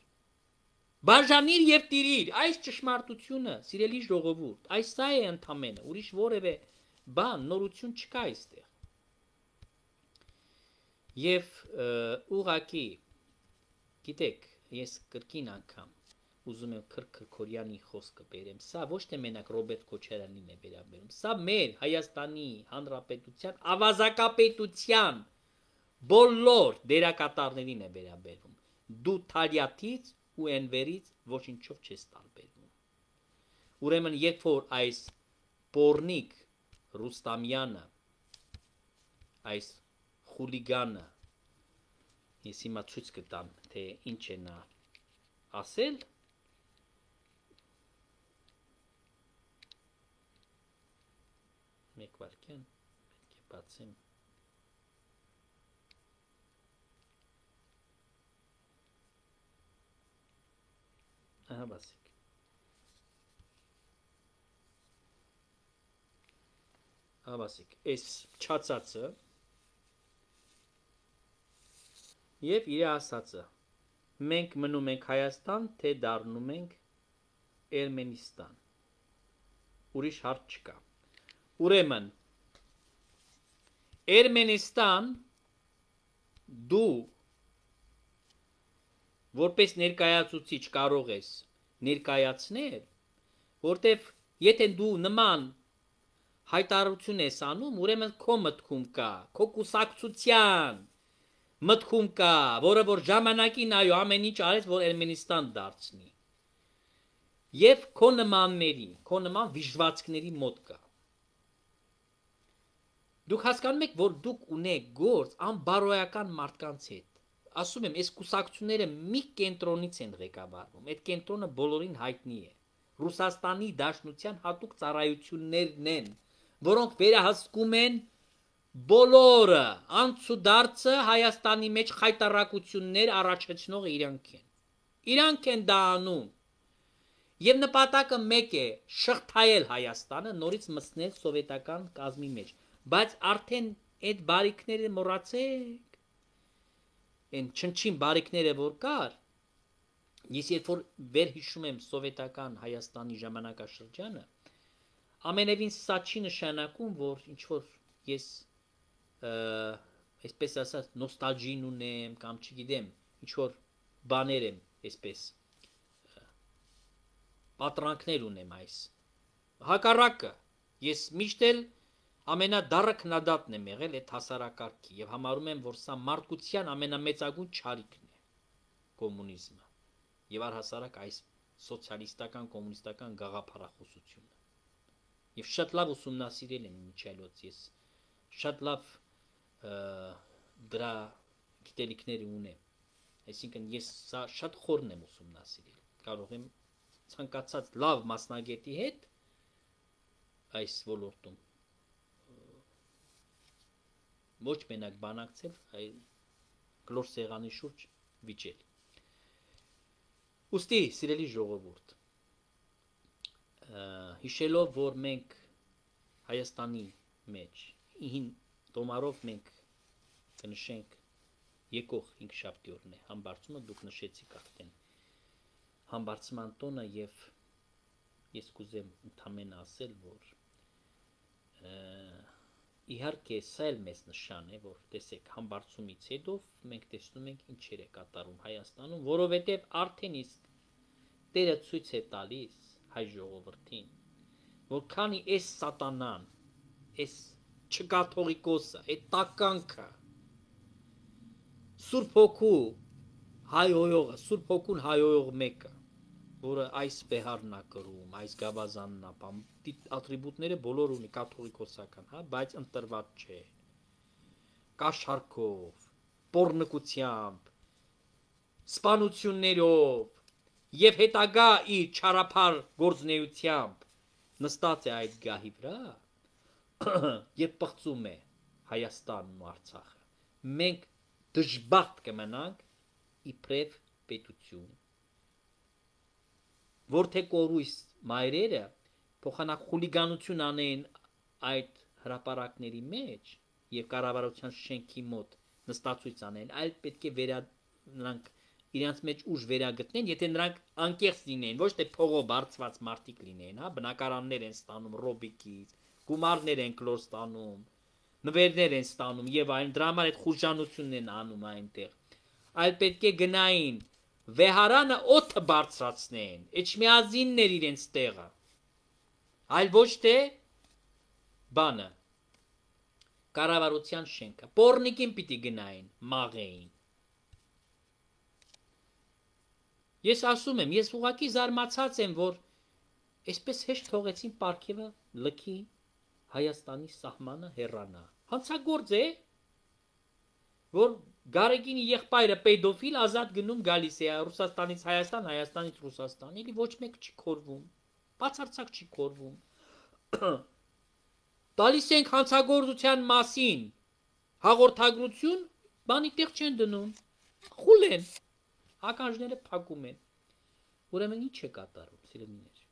բաժանիր եւ տիրիր, այս ճշմարտությունը, սիրելի ժողովուրդ, այս սա է ընդամենը, ուրիշ որևէ բան, նորություն չկա այստեղ։ Եվ ուղղակի, գիտեք, ես կրկին անգամ ուզում եմ Քրքորյանի խոսքը բերեմ, սա ոչ թե մենակ Ռոբերտ Քոչարյանին է վերաբերում, սա մեր Հայաստանի Հանրապետության ավազակապետության բոլոր դերակատարներին է վերաբերում, դու Թալյաթից ու Էնվերից ոչինչով չես տարբերվում։ Ուրեմն երբ որ այս պորնիկ Ռուստամյանը, այս խուլիգանը, ես հիմա ցույց կտամ, թե ինչ է նա ասել, մեկ վարքյան, պետք է բացեմ, ահա բացեք, այս չացածը և իր ասածը, մենք մնում ենք Հայաստան, թե դառնում ենք Էրմենիստան, ուրիշ հարց չկա, ուրեմն, Էրմենիստան դու որպես ներկայացուցիչ կարող ես ներկայացնել, որտև եթե դու նման հայտարարություն ես անում, ուրեմն քո մտքում կա, քո կուսակցության մտքում կա, որը որ ժամանակին այո ամեն ինչ արեց, որ Էրմենիստան դարձնի։ Եվ քո նմանների, քո նման վիժվածքների մոտ կա։ Դուք հասկանում եք, որ դուք ունեք գործ անբարոյական մարդկանց հետ։ Ասում եմ, այս կուսակցությունները մի կենտրոնից են ղեկավարվում։ Այդ կենտրոնը բոլորին հայտնի է։ Ռուսաստանի Դաշնության հատուկ ծառայություններն են, որոնք վերահսկում են բոլորը, անցուդարձը Հայաստանի մեջ խայտարակություններ առաջացնող իրանք են։ Իրանք են դա անում։ Եվ նպատակը մեկ է՝ շղթայել Հայաստանը, նորից մտցնել սովետական կազմի մեջ։ Բայց արդեն այդ բարիքները մոռացեք։ Այն չնչին բարիքները որ կար, ես երբ որ վերհիշում եմ սովետական Հայաստանի ժամանակաշրջանը, ամենևին սա չի նշանակում, որ ինչ որ ես այսպես ասած նոստալգին ունեմ կամ չգիտեմ, ինչ որ բաներ եմ, այսպես պատրանքներ ունեմ այս։ Հակառակը, ես միշտ էլ ամենադառը քննադատն եմ եղել այդ հասարակարգի եւ համարում եմ, որ սա մարդկության ամենամեծագույն չարիքն է կոմունիզմը եւ առհասարակ այս սոցիալիստական կոմունիստական գաղափարախոսությունը։ Եվ շատ լավ ուսումնասիրել եմ միջայլոց, ես շատ լավ դրա գիտելիքները ունեմ, այսինքն ես սա շատ խորն եմ ուսումնասիրել, կարող եմ ցանկացած լավ մասնագետի հետ այս ոլորտում ոչ մենակ բանակցել, այլ գլոր սեղանի շուրջ վիճել։ Ուստի, սիրելի ժողովուրդ, հիշելով, որ մենք Հայաստանի մեջ տոմարով մենք կնշենք եկող հինգշաբթի օրն է համբարձումը, դուք նշեցիք արդեն համբարձման տոնը եւ ես կուզեմ ընդամենը ասել, որ իհարկե սա էլ մեծ նշան է, որ տեսեք համբարձումից հետո մենք տեսնում ենք ինչեր է կատարում Հայաստանում, որովհետեւ արդեն իսկ Տերը ցույց է տալիս հայ ժողովրդին, որ քանի այս սատանան, այս չկաթողիկոսը, այդ տականքը Սուրբ Հոգու հայհոյողը, Սուրբ Հոգուն հայհոյող մեկը, որը այս բեհարն է կրում, այս գավազանն է, ատրիբուտները բոլոր ունի կաթողիկոսական, հա, բայց ընտրված չէ։ Կաշառքով, պոռնկությամբ, սպանություններով եւ հետագա իր չարափար գործնեությամբ նստած է այդ գահի վրա եւ պղծում է Հայաստանն ու Արցախը։ Մենք դժբախտ կմնանք իբրև պետություն, որթե կորույս մայրերը փոխանակ խուլիգանություն անեն այդ հրապարակների մեջ եւ կառավարության շենքի մոտ նստածույց անեն, այլ պետք է նրանք իրենց մեջ ուժ վերագտնեն, եթե նրանք անկեղծ լինեն, ոչ թե փողով բարձված մարդիկ լինեն, հա, բնակարաններ են ստանում ռոբիկից, գումարներ են կլոր ստանում, նվերներ են ստանում եւ այն դրա համար այդ խուժանությունն են անում այնտեղ։ Այլ պետք է գնային վեհարանը օդը բարձրացնեն, էջմիածիններ իրենց տեղը, այլ ոչ թե բանը, կառավարության շենքը, պոռնիկին պիտի գնային, մաղեին։ Ես ասում եմ, ես ուղղակի զարմացած եմ, որ այսպես հեշտ թողեցին պարգևը լքի Հայաստանի սահմանը հեռանա։ Հանցագործ է, որ Գարեգինի եղբայրը պեդոֆիլ ազատ գնում գալիս է Ռուսաստանից Հայաստան, Հայաստանից Ռուսաստան, էլի ոչ մեկ չի քորվում, բացարձակ չի քորվում։ Տալիս ենք հանցագործության մասին հաղորդագրություն, բանի տեղ չեն դնում, խուլ են, ականջները փակում են։ Ուրեմն ինչ է կատարում, սիրելիներ,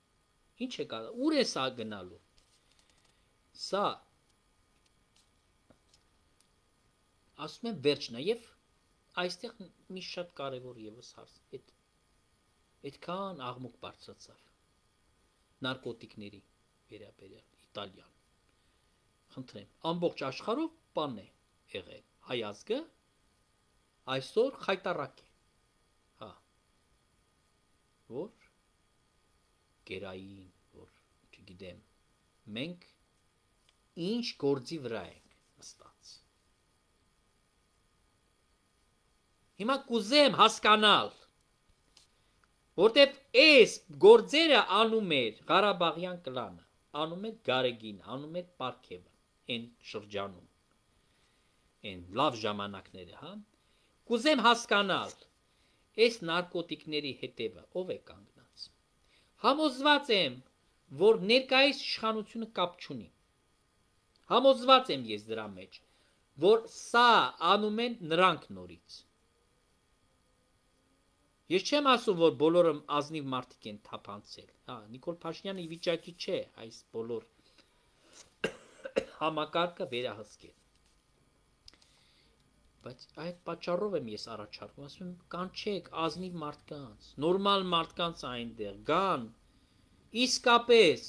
ինչ է կատարում, ուր է սա գնալու։ Սա ասում եմ վերջն է եւ այստեղ մի շատ կարեւոր եւս հարց այդքան աղմուկ բարձրացավ նարկոտիկների վերաբերյալ Իտալիան, խնդրեմ, ամբողջ աշխարհով բան է եղել, հայ ազգը այսօր խայտարակ է, հա, որ գերային, որ չգիտեմ, մենք ինչ գործի վրա ենք նստած։ Հիմա կուզեմ հասկանալ, Որտեվ այս գործերը անում էր Ղարաբաղյան կլանը, անում էր Գարեգին, անում էր Պարքևը, այն շրջանում, այն լավ ժամանակները, հա։ Կուզեմ հասկանալ, այս նարկոտիկների հետևը ով է կանգնած։ Համոզված եմ, որ ներկայիս իշխանությունը կապ չունի։ Համոզված եմ ես դրա մեջ, որ սա անում են նրանք նորից։ Ես չեմ ասում, որ բոլորը ազնիվ մարդիկ են թափանցել, հա, Նիկոլ Փաշինյանը ի վիճակի չէ այս բոլոր համակարգը վերահսկել։ Բայց այդ պատճառով եմ ես առաջարկում, ասում եմ, կանչեք ազնիվ մարդկանց, նորմալ մարդկանց այնտեղ գան, իսկապես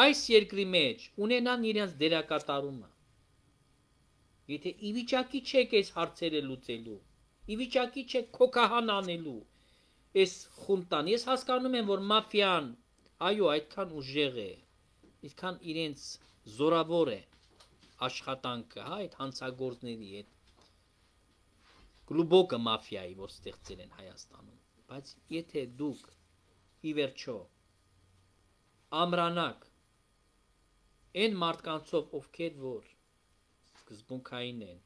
այս երկրի մեջ ունենան իրենց դերակատարումը։ Եթե ի վիճակի չեք այս հարցերը լուծելու, ի վիճակի չեք քոքահան անելու այս խունտան, ես հասկանում եմ, որ մաֆիան, այո, այդքան ուժեղ է, այդքան իրենց զորավոր է աշխատանքը, հա, այդ հանցագործների, այդ գլուբոկը մաֆիայի, որ ստեղծել են Հայաստանում, բայց եթե դուք ի վերջո ամրանաք այն մարդկանցով, ովքեր որ սկզբունքային են,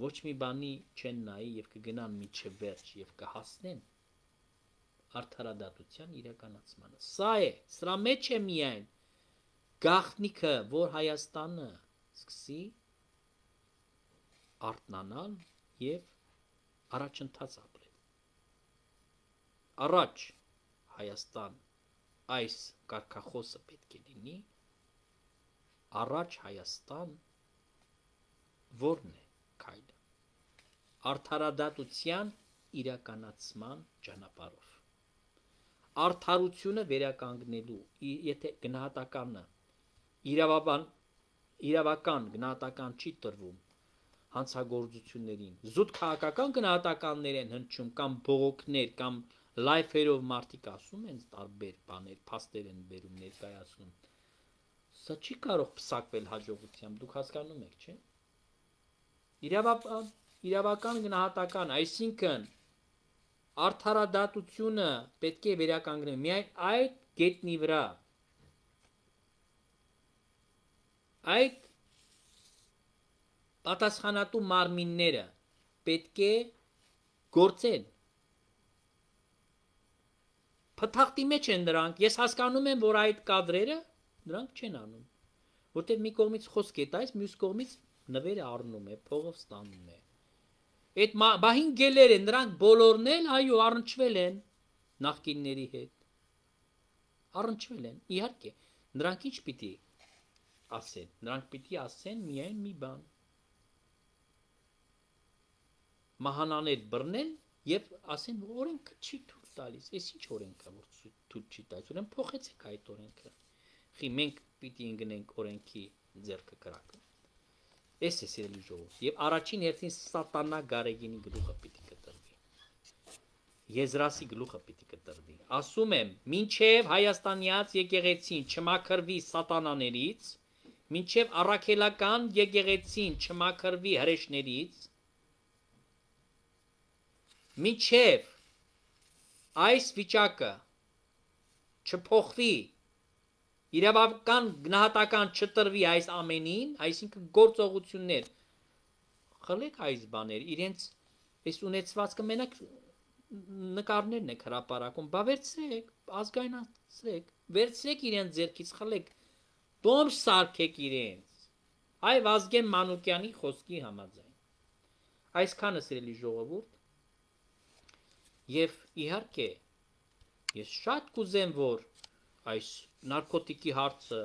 ոչ մի բանի չեն նայի եւ կգնան միջև վերջ եւ կհասնեն արդարադատության իրականացմանը։ Սա է, սրա մեջ է միայն գաղտնիքը, որ Հայաստանը սկսի արթնանալ եւ առաջընթաց ապրել։ Առաջ Հայաստան այս կարգախոսը պետք է լինի, առաջ Հայաստան որն է քայլը արդարադատության իրականացման ճանապարհով, արդարությունը վերականգնելու, եթե գնահատականը իրավական գնահատական չի տրվում հանցագործություններին, զուտ քաղաքական գնահատականներ են հնչում կամ բողոքներ կամ լայֆերով մարդիկ ասում են տարբեր բաներ, փաստեր են բերում ներկայացնում, սա չի կարող փսակվել հաջողությամբ, դուք հասկանում եք, չէ՞։ Իրավական գնահատական, այսինքն արդարադատությունը պետք է վերականգնել միայն այդ գետնի վրա, այդ պատասխանատու մարմինները պետք է գործեն, փթախտի մեջ են դրանք, ես հասկանում եմ, որ այդ կադրերը դրանք չեն անում, որտեղ մի կողմից խոսք է տալիս, մյուս կողմից նվերը առնում է, փողով ստանում է։ Այդ բահին գելեր են, նրանք բոլորն էլ, այո, առնչվել են նախկինների հետ։ Առնչվել են, իհարկե, նրանք ինչ պիտի ասեն, նրանք պիտի ասեն միայն մի բան։ Մահանաներ բռնեն եւ ասեն, որ օրենքը չի թույլ տալիս, այս ինչ օրենք է, որ թույլ չի տալիս, ուրեմն փոխեցեք այդ օրենքը։ Խի մենք պիտի ընկնենք օրենքի ձեռքը կրակը։ Այս է սիրելի ժողովուրդ, եւ առաջին հերթին սատանա Գարեգինի գլուխը պիտի կտրվի, Եզրասի գլուխը պիտի կտրվի, ասում եմ, մինչև հայաստանյաց եկեղեցին չմաքրվի սատանաներից, մինչև առաքելական եկեղեցին չմաքրվի հրեշներից, մինչև այս վիճակը չփոխվի, իրավական գնահատական չտրվի այս ամենին, այսինքն գործողություններ, խլեք այս բաներ, իրենց այս ունեցվածքը մենակ նկարներն եք հրապարակում, բա վերցրեք, ազգայնացրեք, վերցրեք իրենց ձեռքից, խլեք, տոմս սարքեք իրենց, այ Վազգեն Մանուկյանի խոսքի համաձայն։ Այսքանը սիրելի ժողովուրդ, եւ իհարկե, ես շատ կուզեմ, որ այս նարկոտիկի հարցը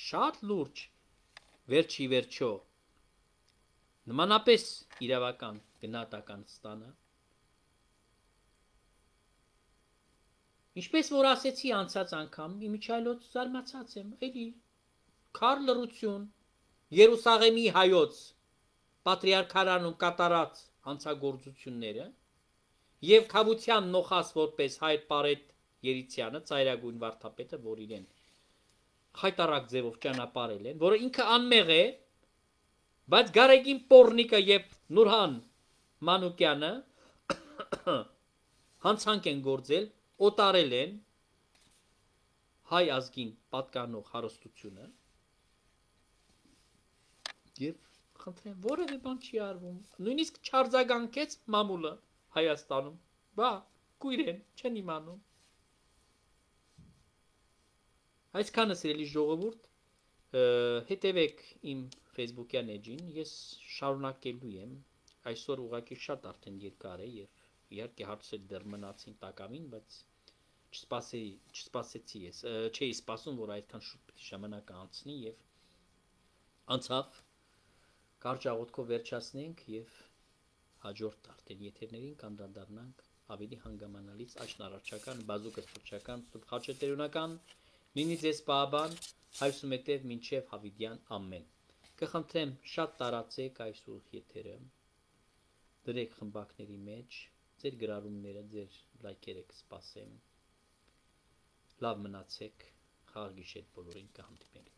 շատ լուրջ վերջի վերջո նմանապես իրավական գնահատական ստանա։ Ինչպես որ ասեցի անցած անգամ, իմիջայլոց զարմացած եմ, էլի քար լռություն Երուսաղեմի հայոց պատրիարքարանում կատարած հանցագործությունները եւ Քավության նոխաս որպես Հայր Պարետ Երիցյանը, ծայրագույն վարդապետը, որ իրեն խայտարակ ձևով ճանապարհել են, որը ինքը անմեղ է, բայց Գարեգին Պորնիկը եւ Նուրհան Մանուկյանը հանցանք են գործել, օտարել են հայ ազգին պատկանող հարստությունը եւ խնդրեմ որևէ բան չի արվում նույնիսկ չարձագանքեց մամուլը Հայաստանում բա կույրեն չեն իմանում այսքանը սիրելի ժողովուրդ հետևեք իմ Facebook-յան էջին ես շարունակելու եմ այսօր ուղղակի շատ արդեն երկար է եւ իհարկե հարցեր դեռ մնացին տակավին բայց չսպասեցի ես չէի սպասում որ այդքան շուտ պիտի ժամանակը անցնի եւ անցավ կարճ աղոթքով վերջացնենք եւ հաջորդ արդեն եթերներին կանդրադառնանք ավելի հանգամանալից աշնարարչական բազուկը սփռչական խաչետերունական լինի ձեզ պահաբան հայրսումետև մինչև հավիդյան ամեն կխնդրեմ շատ տարածեք այս ուղիղ եթերը դրեք խմբակների մեջ ձեր գրառումները ձեր լայքերը կսպասեմ լավ մնացեք խաղ գիշեր բոլորին կհանդիպենք